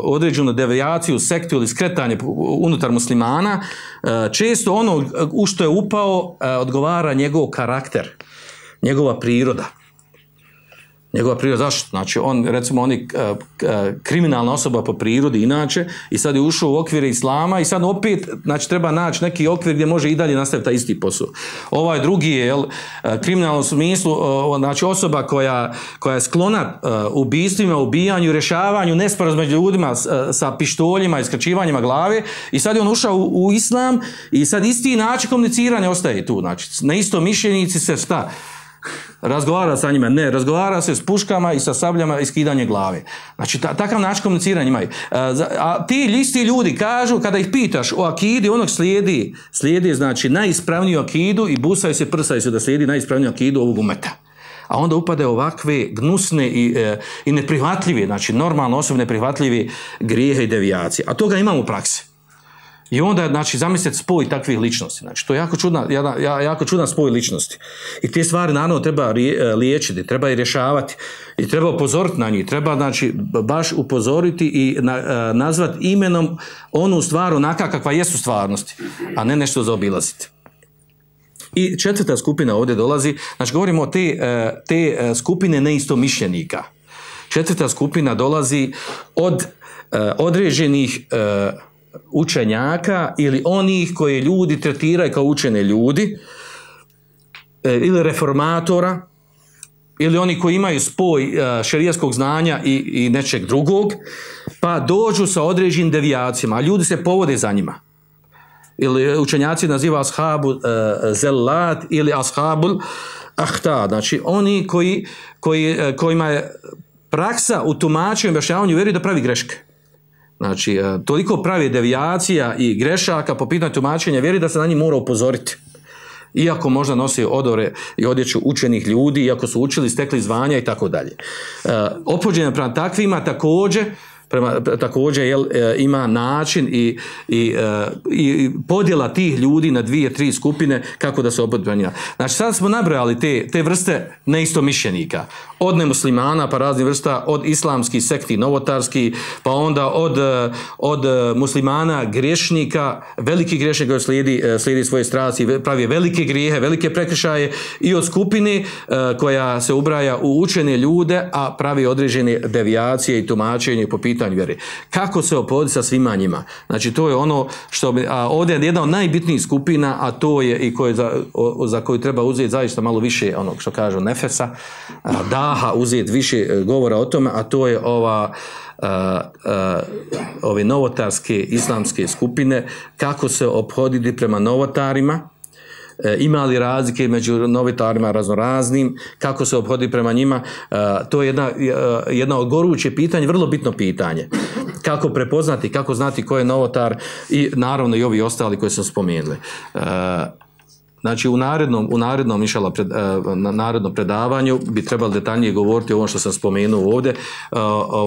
određenu devijaciju, sektu ili skretanje unutar muslimana, često ono u što je upao odgovara njegov karakter, njegova priroda. Zašto? Znači, on je kriminalna osoba po prirodi inače i sad je ušao u okvire islama i sad opet, znači, treba naći neki okvir gdje može i dalje nastaviti taj isti posao. Ovaj drugi je, kriminalnom smislu, znači, osoba koja je sklona ubistvima, ubijanju, rješavanju nesporazuma među ljudima sa pištoljima i skraćivanjima glave i sad je on ušao u islam i sad isti način komuniciranja ostaje tu. Znači, na isto mišljenici se šta? Razgovara sa njima, ne, razgovara se s puškama i sa sabljama i skidanje glave. Znači, takav način komuniciranja imaju. A ti isti ljudi kažu, kada ih pitaš o akidi, onog slijedi znači, najispravniju akidu i busaju se, prsaju se da slijedi najispravniju akidu ovog umeta. A onda upade ovakve gnusne i neprihvatljive, znači normalno osobe neprihvatljive grijehe i devijacije. A toga imamo u praksi. I onda, znači, zamislite spoj takvih ličnosti. Znači, to je jako čudan spoj ličnosti. I te stvari, naravno, treba liječiti, treba i rješavati. I treba upozoriti na njih. Treba, znači, baš upozoriti i nazvati imenom onu stvar onaka kakva jesu stvarnosti, a ne nešto zaobilaziti. I četvrta skupina ovdje dolazi, znači, govorimo o te skupine neistomišljenika. Četvrta skupina dolazi od određenih učenjaka ili onih koje ljudi tretiraju kao učene ljudi ili reformatora ili oni koji imaju spoj šerijatskog znanja i nečeg drugog, pa dođu sa određenim devijacijama, a ljudi se povode za njima. Ili učenjaci naziva ashabu zellat ili ashabul ahta, znači oni kojima je praksa u tumačenju i objašnjavanju vjeri da pravi greške. Znači, toliko pravi devijacija i grešaka po pitanju tumačenja vjeri da se na njih mora upozoriti. Iako možda nosi odore i odjeću učenih ljudi, iako su učili, stekli zvanja i tako dalje. Ophođenje prema takvima također ima način i podjela tih ljudi na 2-3 skupine kako da se ophodbenja. Znači sad smo nabrojali te vrste neistomišljenika. Od nemuslimana pa raznih vrsta, od islamskih sekti, novotarskih, pa onda od muslimana grešnika, veliki grešnik koji slijedi svoje strasti, pravi velike grijehe, velike prekršaje, i od skupine koja se ubraja u učene ljude, a pravi određene devijacije i tumačenje po pitanju vjere. Kako se ophoditi sa svima njima? Znači to je ono što ovdje je jedna od najbitnijih skupina, a to je i za koju treba uzeti zaista malo više onog što kažu nefesa, daha, uzeti više govora o tome, a to je ove novotarske islamske skupine, kako se ophoditi prema novotarima, ima li razlike među novotarima raznoraznim, kako se ophoditi prema njima. To je jedna od goruće pitanja, vrlo bitno pitanje. Kako prepoznati, kako znati ko je novotar, i naravno i ovi ostali koji smo spomenuli. Znači u narednom inšallah narednom predavanju bi trebalo detaljnije govoriti o ovom što sam spomenuo ovdje.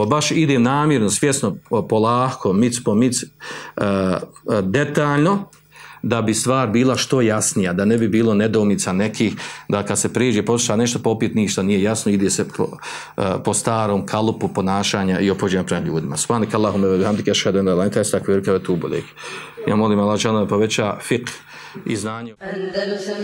Baš idem namjerno, svjesno, polako, mic po mic, detaljno, da bi stvar bila što jasnija, da ne bi bilo nedoumica nekih, da kad se priđe posluša nešto popit ništa nije jasno, ide se po starom kalupu ponašanja i ophođenja prema ljudima. Subhanak Allahumma wa bihamdika ashhadu an la ilaha illa anta astaghfiruka wa atubu ilaik. Ja molim Allah da poveća fiqh i znanje. Andalusam